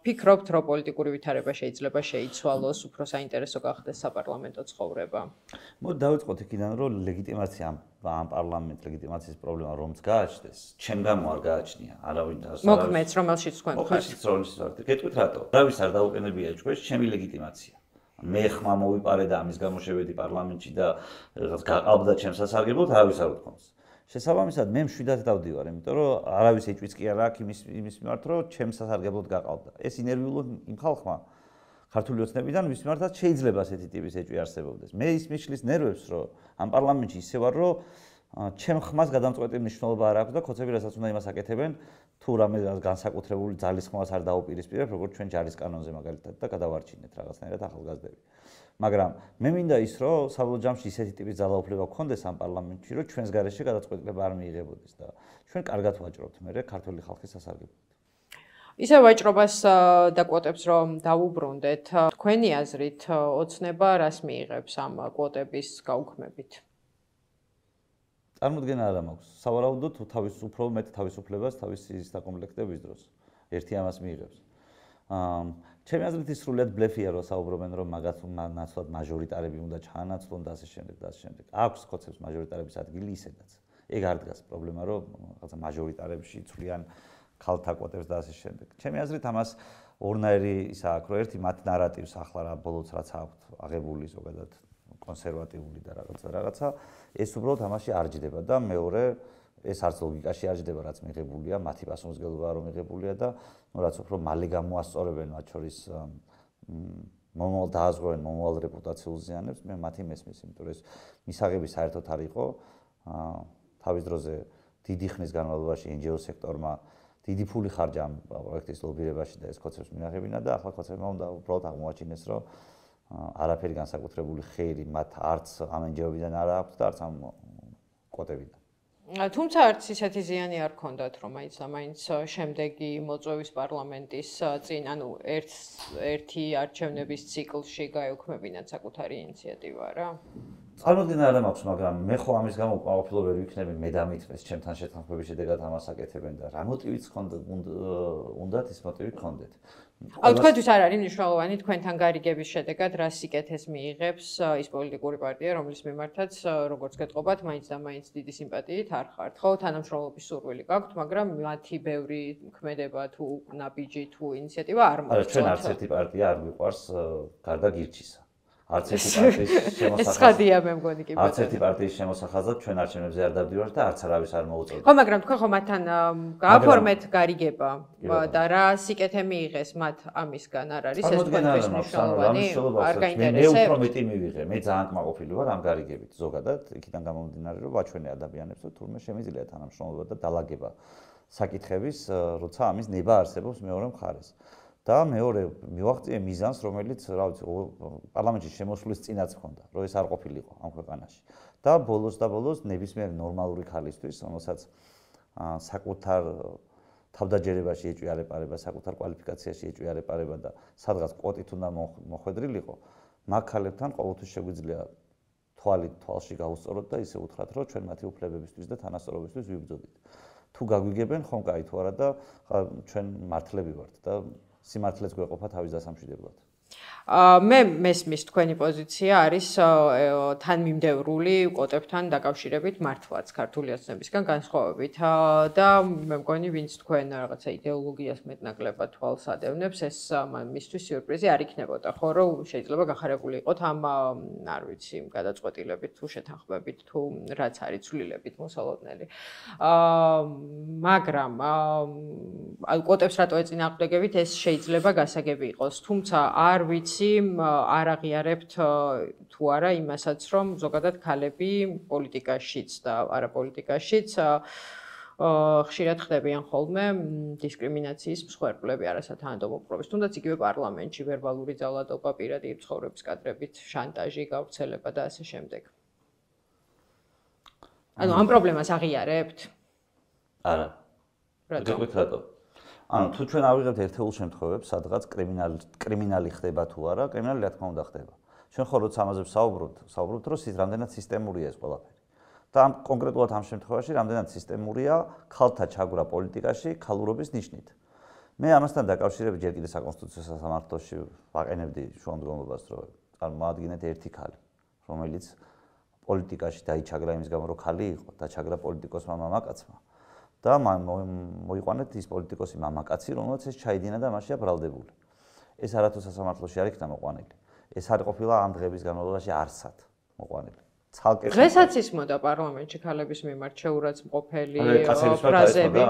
ფიქრობთ, რომ პოლიტიკური ვითარება შეიძლება შეიცვალოს, უფრო საინტერესო გახდეს საპარლამენტო ცხოვრება? მოდი დავიწყოთ იქიდან, რომ ლეგიტიმაცია ამ პარლამენტ ლეგიტიმაციის პრობლემა რომც გააჩნდეს, ჩემ გამო არ გააჩნია. არავინ და მოქმედს, რომელშიც თქვენ ხართ. მოქმედს, რომელშიც ვართ. გეტყვით რატო? დავის არ დაუყენებია ჩვენს ჩემი ლეგიტიმაცია. მე ხმა მოვიპარე და ამის გამო შევედი პარლამენტში და რაღაც გაყავდა ჩემს სასარგებლოდ, არავის არ უთქვამს. შესაბამისად, მე მშვიდად დავდივარ, იმიტომ რომ არავის ეჭვიც კი არ აქვს იმის იმის მიმართ, რომ ჩემს სასარგებლოდ გაყავდა. ეს ინერვიულად იმ ხალხმა ქართული ოცნებიდან ვის მიმართაც შეიძლება ასეთი ტიპის ეჭვი არსებობდეს. მე ის მიშლის ნერვებს, რომ ამ პარლამენტში ისე ვარ, რომ ჩემ ხმას გადამწყვეტი მნიშვნელობა არ აქვს და კოცები რასაც უნდა იმას აკეთებენ, თუ რამე განსაკუთრებული ძალის ხმას არ დაუპირისპირებ, როგორც ჩვენ ჯარის კანონზე მაგალითად და გადავარჩინეთ რაღაცნაირად ახალგაზრდები. მაგრამ მე მინდა ის, რომ საბოლოო ჯამში ისეთი ტიპის ძალაუფლება გქონდეს ამ პარლამენტში, რომ ჩვენს გარეშე გადაწყვეტილება არ მიიღებოდეს და ჩვენ კარგად ვაჭრობთ მე ქართული ხალხის სასარგებლოდ. ისე ვაჭრობას და კვოტებს რომ დავუბრუნდეთ, თქვენი აზრით ოცნება რას მიიღებს ამ კვოტების გაუქმებით? წარმოდგენა არ მაქვს. სავარაუდოდ თავის უფრო მეტ თავისუფლებას თავისი საკომპლექტების დროს ერთი ამას მიიღებს. ჩემი აზრით ის სრულიად ბლეფია, რომ საუბრობენ, რომ მაგათ ნაცვლად მაჟორიტარები უნდა ჩაანაცვლონ და ასე შემდეგ და ასე შემდეგ. აქვს ხოცებს მაჟორიტარების ადგილი ისედაც. ეგ არ დგას პრობლემა, რომ რაღაცა მაჟორიტარებში ცვლიან ქალთა კვოტებს და ასე შემდეგ. ჩემი აზრით ამას ორნაირი ისა აქვს, რომ ერთი მათ ნარატივს ახლა რა ბოლოს რაც აქვთ აღებული ზოგადად კონსერვატიული და რაღაცა რაღაცა, ეს უბრალოდ ამაში არ ჯდება და მეორე ეს არც ლოგიკაში არ ჯდება, რაც მიღებულია, მათი პასუხისმგებლობა რომ მიღებულია და ნუ რაც უფრო მალე გამოასწორებენ მათ შორის მომავალ დააზღვევენ მომავალ რეპუტაციულ ზიანებს, მე მათი მესმის, იმიტომ რომ ეს მისაღები საერთოდ არ იყო. თავის დროზე დიდი ხნის განმავლობაში εν ჯი ო სექტორმა დიდი ფული ხარჯა ამ პროექტის ლობირებაში და ეს ხოცებს მიაღებინა და ახლა ხოცებმა უნდა უბრალოდ აღმოაჩინეს, რომ არაფერი განსაკუთრებული ხეირი მათ არც ამ εν ჯი ო-დან არ აქვს და არც ამ კვოტებიდან. თუმცა არც ისეთი ზიანი არ ქონდათ, რომ მაინც ამაინც შემდეგი მოწვევის პარლამენტის წინ, ანუ ერთ ერთი არჩევნების ციკლში გაეუქმებინათ საკუთარი ინიციატივა რა. წარმოდგენა არ მაქვს, მაგრამ მე ხო ამის გამო უკმაყოფილო ვერ ვიქნები, მე დამითხრეს ჩემთან შეთანხმების შედეგად ამას აკეთებენ და რა მოტივიც უნდათ ის მოტივი გქონდეთ. აუ თქვენთვის არ არის მნიშვნელოვანი თქვენთან გარიგების შედეგად რა სიკეთეს მიიღებს ის პოლიტიკური პარტია, რომლის მიმართაც როგორც გეტყობათ, მაინც და მაინც დიდი სიმპათიით არ ხართ, ხო, თანამშრომლობის სურვილი გაქვთ, მაგრამ მათი ბევრი ქმედება თუ ნაბიჯი თუ ინიციატივა არ მოხდა. არა, ჩვენ არც ერთი პარტია არ მიყვარს გარდა გირჩისა. არც ერთი პარტიის შემოსახაზად. ეს ხადია მე მგონი კი. არც ერთი პარტიის შემოსახაზად ჩვენ არჩევნებზე არ დავდივართ და არც არავის არ მოუწევთ. ხო, მაგრამ თქვენ ხო მათთან გააფორმეთ გარიგება და რა სიკეთე მიიღეს მათ ამისგან არ არის ეს თქვენთვის მნიშვნელოვანი? არ გაინტერესებს? მე უფრო მეტი მივიღე, მე ძალიან კმაყოფილი ვარ ამ გარიგებით ზოგადად, იქიდან გამომდინარე, რომ ვაჩვენე ადამიანებს, რომ თურმე შემიძლია თანამშრომლობა და დალაგება საკითხების, როცა ამის ნება არსებობს მეორე მხარეს. და მეორე მივაღწიე მიზანს, რომელიც, რა ვიცი, პარლამენტში შემოსვლის წინაც ჰქონდა, რომ ეს არ ყოფილიყო ამ ქვეყანაში. და ბოლოს და ბოლოს ნებისმიერი ნორმალური ხალისთვის, რომელსაც საკუთარ თავდაჯერებაში ეჭვი არ ეპარება, საკუთარ კვალიფიკაციაში ეჭვი არ ეპარება და სადღაც კვოტით უნდა მოხვედრილიყო, მაგ ქალებთან ყოველთვის შეგვიძლია თვალი თვალში გაუსწოროთ და ისე უთხრათ, რომ ჩვენ მათი უფლებებისთვის და თანასწორობისთვის ვიბრძოდით. თუ გაგვიგებენ, ხომ კაი, თუ არა და ჩვენ მართლები ვართ და სიმართლეც გვეყოფა თავის დასამშვიდებლად. მე მესმის თქვენი პოზიცია არის თანმიმდევრული კვოტებთან დაკავშირებით მართლაც ქართული ოცნებისგან განსხვავებით და მე მგონი ვინც თქვენ რაღაცა იდეოლოგიას მეტნაკლებად თვალს ადევნებს ეს მისთვის სიურპრიზი არ იქნებოდა ხო რომ შეიძლება გახარებული იყოთ ამ არ ვიცი გადაწყვეტილებით თუ შეთანხმებით თუ რაც არის ცვლილებით მოსალოდნელი მაგრამ კვოტებს რატო ეწინააღმდეგებით ეს შეიძლება გასაგები იყოს თუმცა არ ვიცი არ აღიარებთ თუ არა იმასაც რომ ზოგადად ქალები პოლიტიკაშიც და არაპოლიტიკაშიც ხშირად ხდებიან ხოლმე დისკრიმინაციის მსხვერპლები არასათანადო მოპყრობის თუნდაც იგივე პარლამენტში ვერბალური ძალადობა პირადი ცხოვრების კადრებით შანტაჟი გავრცელება და ასე შემდეგ ანუ ამ პრობლემას აღიარებთ არა რატო რატო ანუ თუ ჩვენ ავიღებთ ერთეულ შემთხვევებს, სადღაც კრიმინალი კრიმინალი ხდება თუ არა, კრიმინალი რა თქმა უნდა ხდება. ჩვენ ხო როცა ამაზე ვსაუბრობთ, ვსაუბრობთ, რომ ის რამდენად სისტემურია ეს ყველაფერი. და ამ კონკრეტულად ამ შემთხვევაში რამდენად სისტემურია ქალთა ჩაგვრა პოლიტიკაში ქალურობის ნიშნით. მე ამასთან დაკავშირებით ჯერ კიდე საკონსტიტუციო სასამართლოში ვაყენებდი შუამდგომლობას, რომ წარმოადგენთ ერთი ქალი, რომელიც პოლიტიკაში დაიჩაგრა იმის გამო, რომ ქალი იყო, დაჩაგრა პოლიტიკოსმა მამაკაცმა. და მოიყვანეთ ის პოლიტიკოსი მამაკაცი, რომელსაც ეს ჩაიდინა და მასშია ბრალდებული. ეს არათუ სასამართლოში არ იქნა მოყვანილი. ეს არ ყოფილა ამ დღების განმავლობაში არსად მოყვანილი. ცალკე დღესაც ისმოდა პარლამენტში ქალების მიმართ შეურაცხმყოფელი ფრაზები.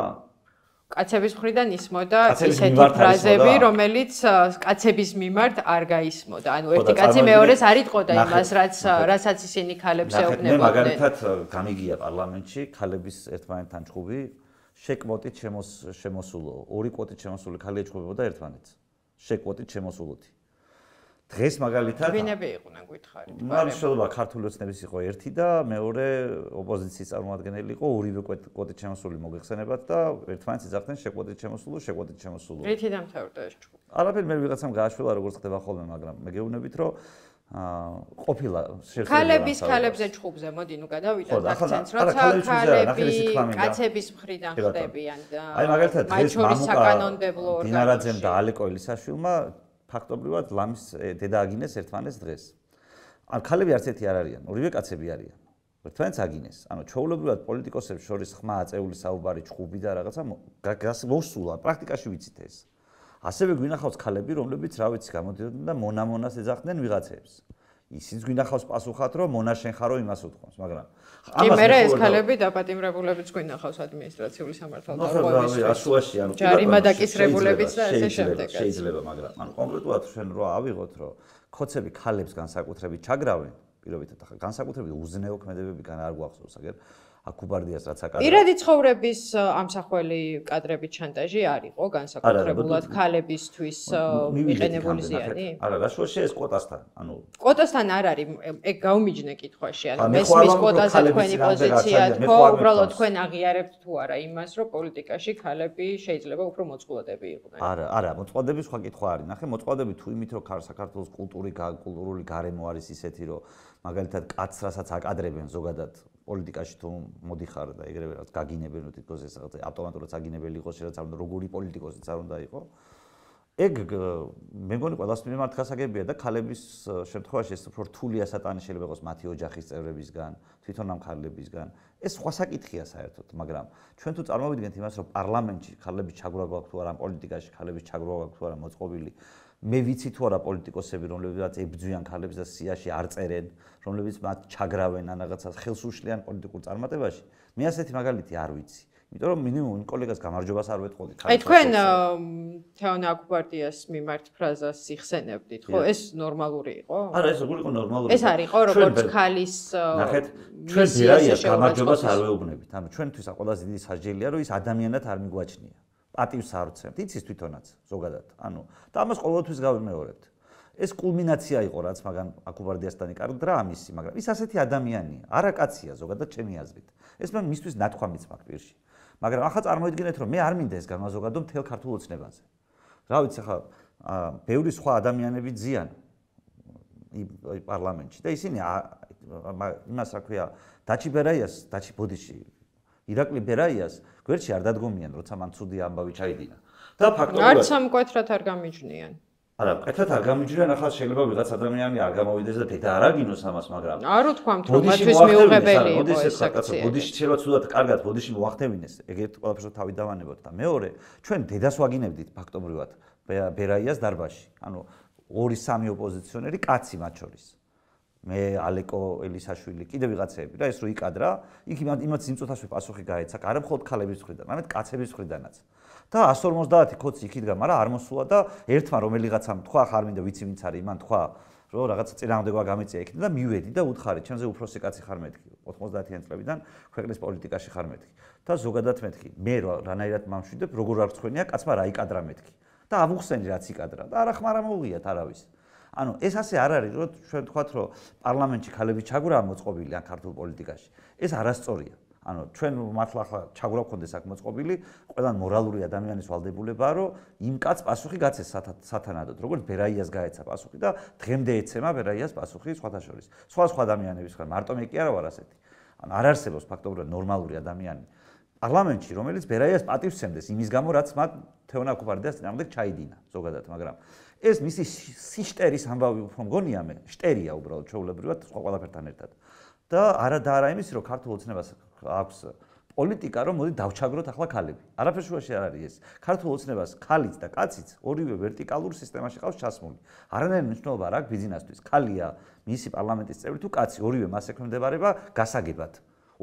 კაცების მხრიდან ისმოდა ისეთი ფრაზები, რომელიც კაცების მიმართ არ გაისმოდა. ანუ ერთი კაცი მეორეს არ იტყოდა იმას, რაც რასაც ისინი ქალებს ეუბნებოდნენ. მე მაგალითად გამიგია პარლამენტში ქალების ერთმანეთთან ჭუბი შეკვოტით შემოსულო. ორი კვოტით შემოსული ქალი ეჭუბებოდა ერთმანეთს. შეკვოტით შემოსულოთი. დღეს მაგალითად ვინები იყვნენ გითხარით? მართლობა ქართული ოცნების იყო ერთი და მეორე ოპოზიციის წარმომადგენელი იყო ორივე კვოტით შემოსული მოგეხსენებათ და ერთმანეთს იძახდნენ შეკვოტით შემოსულო, შეკვოტით შემოსულო. რითი დამთავრდა ეს ჭუბი? არაფერი მე ვიღაცამ გააშველა როგორც ხდება ხოლმე, მაგრამ მე გეუბნებით რომ ყოფილა შეხედულება ქალების ქალებზე ჭუბზე მოდი ნუ გადავიდეთ აქცენტს როცა ქალები კაცების მხრიდან ხდებიან და აი მაგალითად დღეს მამუკა დინარაძემ და ალეკო ელისაშვილმა ფაქტობრივად ლამის დედა აგინეს ერთმანეთს დღეს. ან ქალები არც ერთი არ არიან, ორივე კაცები არიან. ერთმანეთს აგინეს. ანუ ჩვეულებრივად პოლიტიკოსებს შორის ხმა, აწეული საუბარი, ჩხუბი და რაღაცა მოსულა, პრაქტიკაში ვიცით ეს. ასევე გვინახავს ქალები, რომლებიც რა ვიცი, გამოდიოდნენ და მონამონას ეძახდნენ ვიღაცებს. ისიც გვინახავს პასუხად, რომ მონა შენ ხარო იმას უთქვამს, მაგრამ კი მერე ეს ქალები დაპატიმრებულებიც გვინახავს ადმინისტრაციული სამართალდამცავების ასუაში, ანუ ჯარიმა დაკისრებულებიც და ესე შემდეგ. შეიძლება, მაგრამ ანუ კონკრეტულად ჩვენ რა ავიღოთ, რომ ქოცები ქალებს განსაკუთრებით ჩაგრავენ, პირობითად ახლა განსაკუთრებით უზნეო ქმედებებიდან არ გვახსოვს, აგერ აკუბარდიას რაც აკადრა. პირადი ცხოვრების ამსახველი კადრების შანტაჟი არ იყო განსაკუთრებულად ქალებისთვის მიყენებული ზიანი? არა, რაშუაში ეს კვოტასთან, ანუ კვოტასთან არ არის, ეგ გაუმიჯნე კითხვაში, ანუ მესმის კვოტაზე თქვენი პოზიცია თქო, უბრალოდ თქვენ აღიარებთ თუ არა იმას, რომ პოლიტიკაში ქალები შეიძლება უფრო მოწყვლადები იყვნენ? არა, არა, მოწყვლადების სხვა კითხვა არის. ნახე, მოწყვლადები თუ იმით, რომ საქართველოს კულტური, კულტურული გარემო არის ისეთი, რომ მაგალითად კაცს რასაც აკადრებენ ზოგადად პოლიტიკაში თუ მოდიხარ და ეგრევე რაც გაგინებენ რომ თითქოს ეს რაღაც ავტომატურად საგინებელი იყოს შეიძლება არ უნდა როგორი პოლიტიკოსიც არ უნდა იყოს ეგ მე მგონი ყველას მიმართ გასაგებია და ქალების შემთხვევაში ეს უფრო რთულია სატანი შეიძლება იყოს მათი ოჯახის წევრებისგან თვითონ ამ ქალებისგან ეს სხვა საკითხია საერთოდ მაგრამ ჩვენ თუ წარმოვიდგენთ იმას რომ პარლამენტში ქალების ჩაგვრა გვაქვს თუ არა პოლიტიკაში ქალების ჩაგვრა გვაქვს თუ არა მოწყობილი მე ვიცი თუ არა პოლიტიკოსები რომლებიც ებძვიან ქალებს და სიაში არ წერენ რომლებიც მათ ჩაგრავენ ან რაღაცას ხელს უშლიან პოლიტიკურ წარმატებაში მე ასეთი მაგალითი არ ვიცი იმიტომ რომ მინიმუმ კოლეგას გამარჯვებას არ ვეთყოდი აი თქვენ თეონა აკუბარდიას მიმართ ფრაზას იხსენებდით ხო ეს ნორმალური იყო არა ეს როგორ იყო ნორმალური ეს არ იყო როგორც ქალის ნახეთ ჩვენ ბერაიას გამარჯვებას არ ვეუბნებით ანუ ჩვენთვის ყველაზე დიდი სასჯელია რომ ის ადამიანად არ მიგვაჩნია პატივს არ ვცემთ იცის თვითონაც ზოგადად ანუ და ამას ყოველთვის გავიმეორებთ ეს კულმინაცია იყო რაც მაგან აკუბარდიასთან იკარგდა ამისი მაგრამ ის ასეთი ადამიანია არა კაცია ზოგადად ჩემი აზრით ეს მე მისთვის ნათქვამიც მაქვს პირში მაგრამ ახლა წარმოიდგინეთ რომ მე არ მინდა ეს განმაზოგადო მთელ ქართულ ოცნებაზე რა ვიცი ახლა ბევრი სხვა ადამიანები ძიან პარლამენტში და ისინი იმას რა ქვია დაჩი ბერაიას დაჩი ბოდიში ირაკლი ბერაიას გვერდში არ დადგომიან როცა მან ცუდი ამბავი ჩაიდინა და ფაქტობრივად არც ამ კვეთრად არ გამიჯნიან არა კვეთრად არ გამიჯნიან ახლა შეიძლება ვიღაც ადამიანი არ გამოვიდეს და დედა არ აგინოს ამას მაგრამ არ უთქვამთ რომ მათთვის მიუღებელი იყო ეს საკაცო ბოდიში შეიძლება ცუდად კარგად ბოდიში მოახდევინეს ეგეთ ყველაფერს თავი დავანებოთ და მეორე ჩვენ დედას ვაგინებდით ფაქტობრივად ბერაიას დარბაზში ანუ ორი სამი ოპოზიციონერი კაცი მათ შორის მე ალეკო ელისაშვილი კიდე ვიღაცები და ეს რო იკადრა იქ იმათ სიმწოთასვე პასუხი გაეცა არა მხოლოდ ქალების მხრიდან არამედ კაცების მხრიდანაც და εκατს ორმოცდაათი ქოცი იქიდან მაგრამ არ მოსულა და ერთმა რომელიღაცამ თქვა ხარ მინდა ვიცი ვინც არის იმან თქვა რომ რაღაცა წინააღმდეგობა გამიწია იქიდან და მივედი და უთხარი ჩემზე უფროსი კაცი ხარ მეთქი ოთხმოცდაათიან წლებიდან ქვეყნის პოლიტიკაში ხარ მეთქი და ზოგადად მეთქი მე რანაირად მამშვიდებ როგორ არ გწხვენია კაცმა რა იკადრა მეთქი და ავუხსენი რაც იკადრა და არა ხმარა მოუღიათ არავის ანუ ეს ასე არ არის რომ ჩვენ თქვათ რომ პარლამენტში ქალები ჩაგვრაა მოწყობილი ან ქართულ პოლიტიკაში ეს არასწორია ანუ ჩვენ მართლა ახლა ჩაგვრა გქონდეს აქ მოწყობილი ყველან მორალური ადამიანის ვალდებულებაა რომ იმ კაც პასუხი გაცეს სათანადოდ როგორც ბერაიას გაეცა პასუხი და დღემდე ეცემა ბერაიას პასუხი სხვათა შორის სხვა სხვა ადამიანების ხარ მარტო მე კი არა ვარ ასეთი ანუ არ არსებობს ფაქტობრივად ნორმალური ადამიანი პარლამენტში რომელიც ბერაიას პატივს სცემდეს იმის გამო რაც მათ თეონა აკუბარდიას წინააღმდეგ ჩაიდინა ზოგადად მაგრამ ეს მისი სიშტერის ამბავი უფრო მგონია მე შტერია უბრალოდ ჩვეულებრივად სხვა ყველაფერთან ერთად და არა და არა იმის რომ ქართულ ოცნებას აქვს პოლიტიკა რომ მოდი დავჩაგროთ ახლა ქალები არაფერ შუაში არ არის ეს ქართულ ოცნებას ქალიც და კაციც ორივე ვერტიკალურ სისტემაში ყავს ჩასმული არანაირი მნიშვნელობა არ აქვს ბიზნესთვის ქალია მისი პარლამენტის წევრი თუ კაცი ორივე მას ექვემდებარება გასაგებად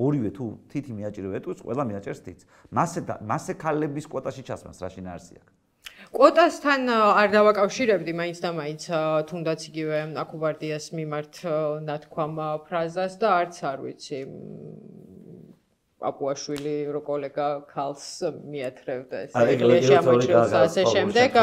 ორივე თუ თითი მიაჭირება ეტყვის ყველა მიაჭერს თითს მასე მასე ქალების კვოტაში ჩასმას რა შინაარსი აქვს კვოტასთან არ დავაკავშირებდი მაინც და მაინც თუნდაც იგივე აკუბარდიას მიმართ ნათქვამ ფრაზას და არც არ ვიცი პაპუაშვილი რო კოლეგა ქალს მიათრევდა ეს ეკლესიაში ამოჭრილს ასე შემდეგ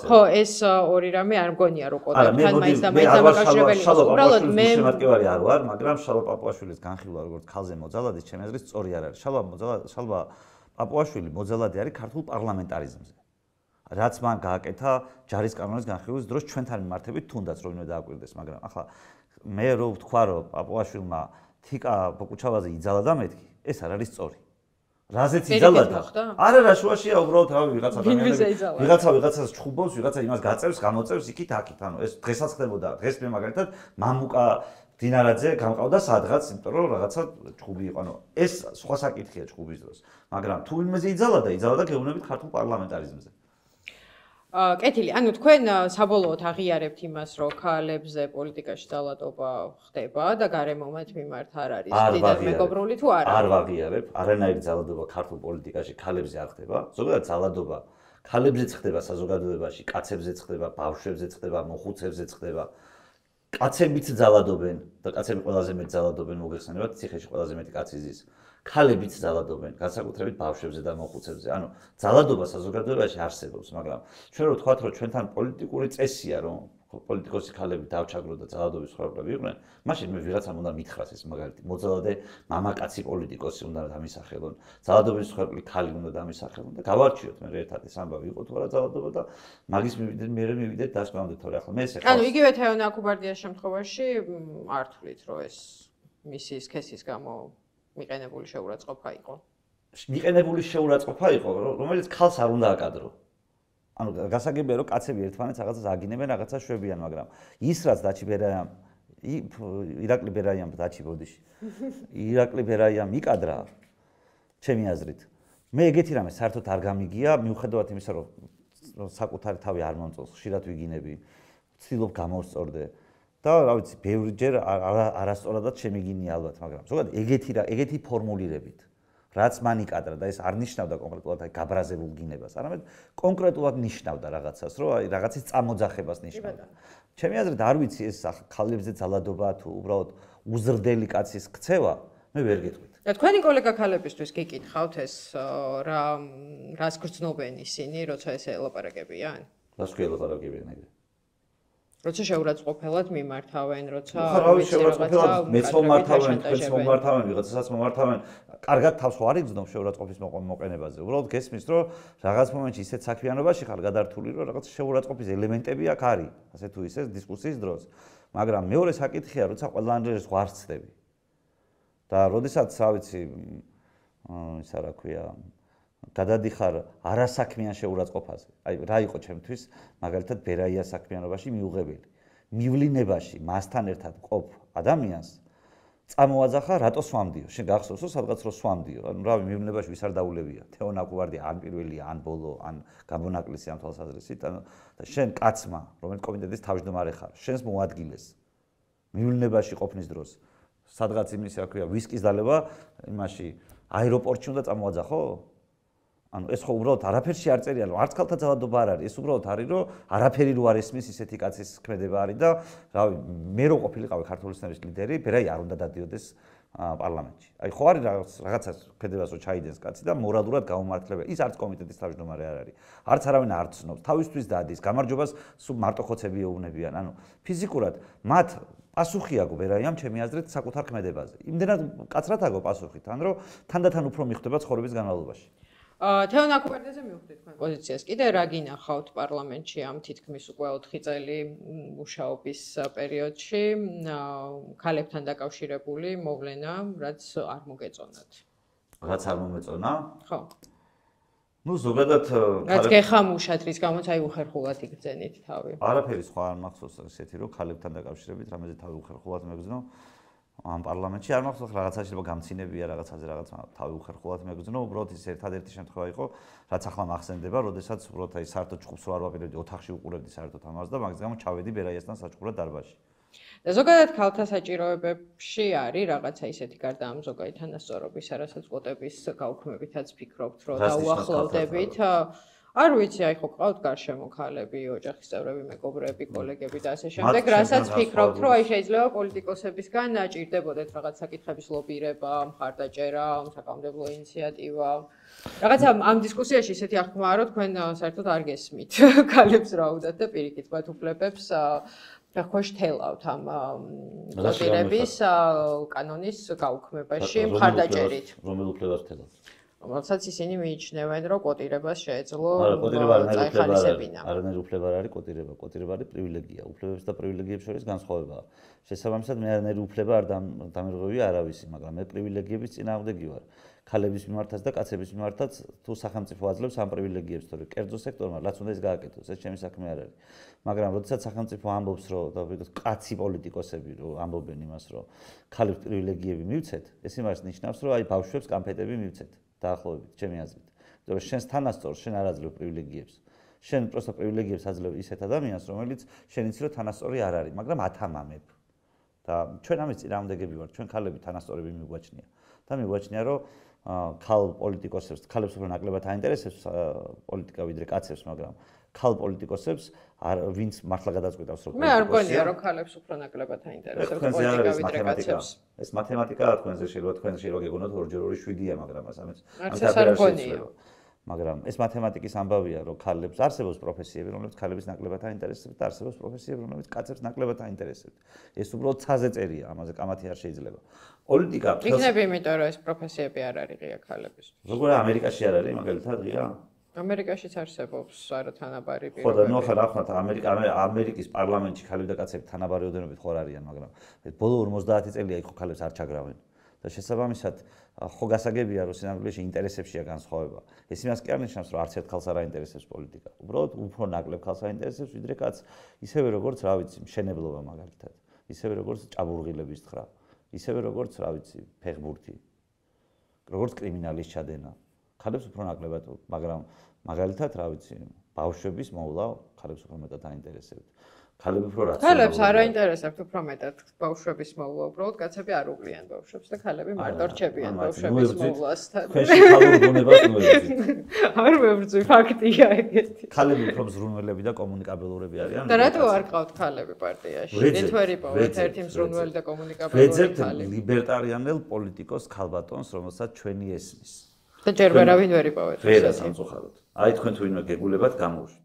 ხო ეს ორი რამე არ მგონია რო კვოტასთან მაინც და მაინც დამაკავშირებელი იყო უბრალოდ მე შემატკივარი არ ვარ მაგრამ შალვა პაპუაშვილის განხილვა როგორც ქალზე მოძალადის ჩემი აზრით სწორი არ არის შალვა მოძალადი შალვა პაპუაშვილი მოძალადი არის ქართულ პარლამენტარიზმზე რაც მან გააკეთა ჯარისკანონის განხილვის დროს ჩვენთან მიმართებით თუნდაც რომ დააკვირდეს მაგრამ ახლა მე რო ვთქვა რომ პაპუაშვილმა თიკა ბოკუჩავაზე იძალა და მეთქი ეს არ არის სწორი რაზეც იძალა და არა რა შუაშია უბრალოდ რავი ვიღაცა ადამიანები ვიღაცა ვიღაცას ჩხუბობს ვიღაცა იმას გაწევს გამოწევს იქით აქით ანუ ეს დღესაც ხდებოდა დღეს მე მაგალითად მამუკა დინარაძე გამყავდა სადღაც იმიტომ რომ რაღაცა ჩხუბი იყო ანუ ეს სხვა საკითხია ჩხუბის დროს მაგრამ თუ ვინმეზე იძალა და იძალა და გეუბნებით ქართულ პარლამენტარიზმზე აა კეთილი, ანუ თქვენ საბოლოოდ აღიარებთ იმას, რომ ქალებზე პოლიტიკაში ძალადობა ხდება და გარემო მათ მიმართ არ არის დიდად მეგობრული თუ არა? არ ვაღიარებ, არანაირი ძალადობა ქართულ პოლიტიკაში ქალებზე არ ხდება. ზოგადად ძალადობა ქალებზეც ხდება საზოგადოებაში, კაცებზეც ხდება, ბავშვებზეც ხდება, მოხუცებზეც ხდება. კაცებიც ძალადობენ და კაცები ყველაზე მეტ ძალადობენ მოგეხსენებათ, ციხეში ყველაზე მეტი კაცი ზის. ქალებიც ძალადობენ, განსაკუთრებით ბავშვებზე და მოხუცებზე. ანუ ძალადობა საზოგადოებაში არსებობს, მაგრამ ჩვენ რო ვთქვათ, რომ ჩვენთან პოლიტიკური წესია, რომ პოლიტიკოსი ქალები დავჩაგროთ და ძალადობის ხარბლები იყვნენ, მაშინ მე ვიღაცამ უნდა მითხრას ეს მაგალითი. მოძალადე მამაკაცი პოლიტიკოსი უნდა დამისახელონ, ძალადობის ხარბლი ქალი უნდა დამისახელონ და გავარჩიოთ მე ერთად ეს ამბავი იყო თუ არა ძალადობა და მაგის მივიდეთ მე მივიდეთ დასკვნამდე თორე ახლა მე ესე ხარ. ანუ იგივე თეონა აკუბარდიას შემთხვევაში არ თვლით, რომ ეს მისი სქესის გამო მიყენებული შეურაცხყოფა იყო. მიყენებული შეურაცხყოფა იყო, რომელიც ქალს არ უნდა აკადრო. ანუ გასაგებია რომ კაცები ერთმანეთს რაღაცას აგინებენ, რაღაცას შვებიან, მაგრამ ის რაც დაჩი ბერაიამ ირაკლი ბერაიამ დაჩი ბოდიში. ირაკლი ბერაიამ იკადრა ჩემი აზრით. მე ეგეთი რამე საერთოდ არ გამიგია, მიუხედავად იმისა, რომ საკუთარი თავი არ მომწონს, ხშირად ვიგინები, ვცდილობ გამოვსწორდე. და რა ვიცი, ბევრჯერ არასწორადაც შემიგინია ალბათ, მაგრამ ზოგადად ეგეთი რა, ეგეთი ფორმულირებით, რაც მან იკადრა და ეს არ ნიშნავდა კონკრეტულად აი გაბრაზებულ გინებას, არამედ კონკრეტულად ნიშნავდა რაღაცას, რომ აი რაღაცის წამოძახებას ნიშნავდა. ჩემი აზრით არ ვიცი ეს ქალებზე ძალადობა თუ უბრალოდ უზრდელი კაცის ქცევა, მე ვერ გეტყვით. და თქვენი კოლეგა ქალებისთვის გიკითხავთ ეს რა რას გრძნობენ ისინი, როცა ეს ელაპარაკებიან? რას ელაპარაკებიან ეგრე? როცა შეურაცხყოფელად მიმართავენ, როცა რა ვიცი შეურაცხყოფელად მეც მომართავენ, თქვენც მომართავენ, ვიღაცასაც მომართავენ, კარგად თავს ხო არ იგრძნობს შეურაცხყოფის მოყენებაზე. უბრალოდ გესმის, რომ რაღაც მომენტში ისეთ საქმიანობაში ხარ გადართული, რომ რაღაც შეურაცხყოფის ელემენტები აქ არის, ასე თუ ისე დისკუსიის დროს. მაგრამ მეორე საკითხია, როცა ყველანაირად ზღვარს ცდები. და როდესაც, რა ვიცი, ისა რა ქვია, გადადიხარ არასაქმიან შეურაცხყოფაზე. აი რა იყო ჩემთვის მაგალითად ბერაია საქმიანობაში მიუღებელი. მივლინებაში მასთან ერთად ყოფ ადამიანს წამოაძახა რატო სვამდიო. შენ გახსოვსო სადღაც რო სვამდიო. ანუ რავი მივლინებაში ვის არ დაულებია. თეონა აკუბარდია ან პირველია, ან ბოლო, ან გამონაკლისი ამ თვალსაზრისით. ანუ და შენ კაცმა, რომელიც კომიტეტის თავმჯდომარე ხარ, შენს მოადგილეს მივლინებაში ყოფნის დროს სადღაც იმის რა ქვია ვისკის დალევა იმაში აეროპორტში უნდა წამოაძახო? ანუ ეს ხო უბრალოდ არაფერში არ წერია, რომ არც ქალთა ძალადობა არ არის, ეს უბრალოდ არის, რომ არაფერი რო არ ესმის ისეთი კაცის ქმედება არის და რავი, მე რო ყოფილიყავი ქართული სნერის ლიდერი, ბერაი არ უნდა დადიოდეს პარლამენტში. აი ხო არის რაღაც რაღაცას ქმედებას რო ჩაიდენს კაცი და მორალურად გაუმართლებელი. ის არც კომიტეტის თავმჯდომარე არ არის. არც არავინ არ ცნობს, თავისთვის დადის, გამარჯვებას სულ მარტო ხოცები ეუბნებიან. ანუ ფიზიკურად მათ პასუხი აქვს ბერაიამ ჩემი აზრით საკუთარ ქმედებაზე. იმდენად კაცრად აქვს პასუხი, თან რომ თანდათან უფრო მიხვდება ცხოვრების განმავლობაში. თეონა აკუბარდიაზე მივხვდით თქვენ პოზიციას. კიდე რა გინახავთ პარლამენტში ამ თითქმის უკვე ოთხი წელი მუშაობის პერიოდში ქალებთან დაკავშირებული მოვლენა, რაც არ მოგეწონათ? რაც არ მომეწონა? ხო. ნუ ზოგადად რაც გეხამუშათ, რის გამოც აი უხერხულად იგრძენით თავი. არაფერი სხვა არ მახსოვს ესეთი, რომ ქალებთან დაკავშირებით რამეზე თავი უხერხულად მეგზნო. ამ პარლამენტში არ მახსოვს რაღაცა შეიძლება გამცინებია რაღაცაზე რაღაც თავი უხერხულად მეგზნო, უბრალოდ ის ერთადერთი შემთხვევა იყო, რაც ახლა მახსენდება, როდესაც უბრალოდ აი საერთოდ ჭუბს რო არ ვაპირებდი, ოთახში უყურებდი საერთოდ ამას და მაგის გამო ჩავედი ბერაიასთან საჭყურად დარბაზში. და ზოგადად ქალთა საჭიროებებში არის რაღაცა ისეთი გარდა ამ ზოგადი თანასწორობის, რასაც კვოტების გაუქმებითაც ფიქრობთ, რომ დაუახლოვდებით. არ ვიცი, აი ხო ყავთ გარშემო ქალები, ოჯახის წევრები, მეგობრები, კოლეგები და ასე შემდეგ, რასაც ფიქრობთ, რომ აი შეიძლება პოლიტიკოსებისგან ჭირდებოდეთ რაღაც საკითხების ლობირება, მხარდაჭერა, საკანონმდებლო ინიციატივა. რაღაცა ამ დისკუსიაში ისეთი აღქმაა, რომ თქვენ საერთოდ არ გესმით ქალებს რა უნდათ და პირიქით მათ უფლებებს ხო შთელავთ ამ ლობირების კანონის გაუქმებაში მხარდაჭერით. რომელ უფლებას შთელავთ? რომელსაც ისინი მიიჩნევენ, რომ კოტირებას შეეძლო წაეხალისებინა. არანაირი უფლება არ არის კოტირება, კოტირება არის პრივილეგია. უფლებებს და პრივილეგიებს შორის განსხვავებაა. შესაბამისად მე არანაირი უფლება არ დამირღვევია არავისი, მაგრამ მე პრივილეგიების წინააღმდეგი ვარ. ქალების მიმართაც და კაცების მიმართაც თუ სახელმწიფო აძლევს ამ პრივილეგიებს, თორე კერძო სექტორმა რაც უნდა ის გააკეთოს, ეს ჩემი საქმე არ არის. მაგრამ როდესაც სახელმწიფო ამბობს, რომ დავიგოთ კაცი პოლიტიკოსები რომ ამბობენ იმას, რომ ქალებს პრივილეგიები მივცეთ, ეს იმას ნიშნავს, რომ აი ბავშვებს კამფეტები მივცეთ დაახლოებით, ჩემი აზრით. იმიტომ რომ შენს თანასწორს შენ არ აძლევ პრივილეგიებს. შენ პროსტო პრივილეგიებს აძლევ ისეთ ადამიანს, რომელიც შენ იცი რომ თანასწორი არ არის, მაგრამ ათამამებ. და ჩვენ ამის წინააღმდეგები ვართ, ჩვენ ქალები თანასწორები მიგვაჩნია. და მიგვაჩნია, რომ ქალ პოლიტიკოსებს, ქალებს უფრო ნაკლებად აინტერესებს პოლიტიკა ვიდრე კაცებს, მაგრამ ქალ პოლიტიკოსებს ვინც მართლა გადაწყვეტავს რომ მე არ მგონია რომ ქალებს უფრო ნაკლებად აინტერესებს პოლიტიკა ვიდრე კაცებს. ეს მათემატიკაა თქვენზე შეიძლება თქვენზე შეიძლება გეგონოთ ორჯერ ორი შვიდია, მაგრამ ამას არც ეს არ მგონია. მაგრამ ეს მათემატიკის ამბავია, რომ ქალებს არსებობს პროფესიები, რომლებიც ქალებს ნაკლებად აინტერესებს და არსებობს პროფესიები, რომლებიც კაცებს ნაკლებად აინტერესებს. ეს უბრალოდ ცაზე წერია, ამაზე კამათი არ შეიძლება. პოლიტიკა იქნება იმიტომ, რომ ეს პროფესიები არ არის ღია ქალების. როგორ ამერიკაში არ არის მაგალითად ღია? ამერიკაშიც არსებობს არათანაბარი პირობები. ხო და ნუ ახლა რა ხარ ამერიკა ამერიკის პარლამენტში ქალები და კაცები თანაბარი ოდენობით ხო არ არიან, მაგრამ ბოლო ორმოცდაათი წელია იქ ხო ქალებს არ ჩაგრავენ. და შესაბამისად ხო გასაგებია რომ სინამდვილეში ინტერესებშია განსხვავება. ეს იმას კი არ ნიშნავს რომ არც ერთ ქალს არ აინტერესებს პოლიტიკა. უბრალოდ უფრო ნაკლებ ქალს აინტერესებს ვიდრე კაცს, ისევე როგორც რა ვიცი, მშენებლობა მაგალითად, ისევე როგორც ჭაბურღილების თხრა, ისევე როგორც რა ვიცი, ფეხბურთი, როგორც კრიმინალის ჩადენა. ქალებს უფრო ნაკლებად, მაგრამ მაგალითად რა ვიცი, ბავშვების მოვლა ქალებს უფრო მეტად აინტერესებთ. ქალები უფრო რაციონალურია. ქალებს არ აინტერესებთ უფრო მეტად ბავშვების მოვლა, უბრალოდ კაცები არ უყრიან ბავშვებს და ქალები მარტო რჩებიან ბავშვების მოვლასთან. თქვენში ქალურ ბუნებას ნუებთ. არ მებრძვი, ფაქტია ეგეთი. ქალები უფრო მზრუნველები და კომუნიკაბელურები არიან. და რატო არ ყავთ ქალები პარტიაში? ეთვერი პოვეთ ერთი მზრუნველი და კომუნიკაბელური ქალი. ვეძებთ ლიბერტარიანელ პოლიტიკოს ქალბატონს, რომელსაც ჩვენი ესმის. და ჯერ ვერავინ ვერ იპოვეთ. ვერა სამწუხაროდ. აი თქვენ თუ ვინმე გეგულებათ გამოვშვით.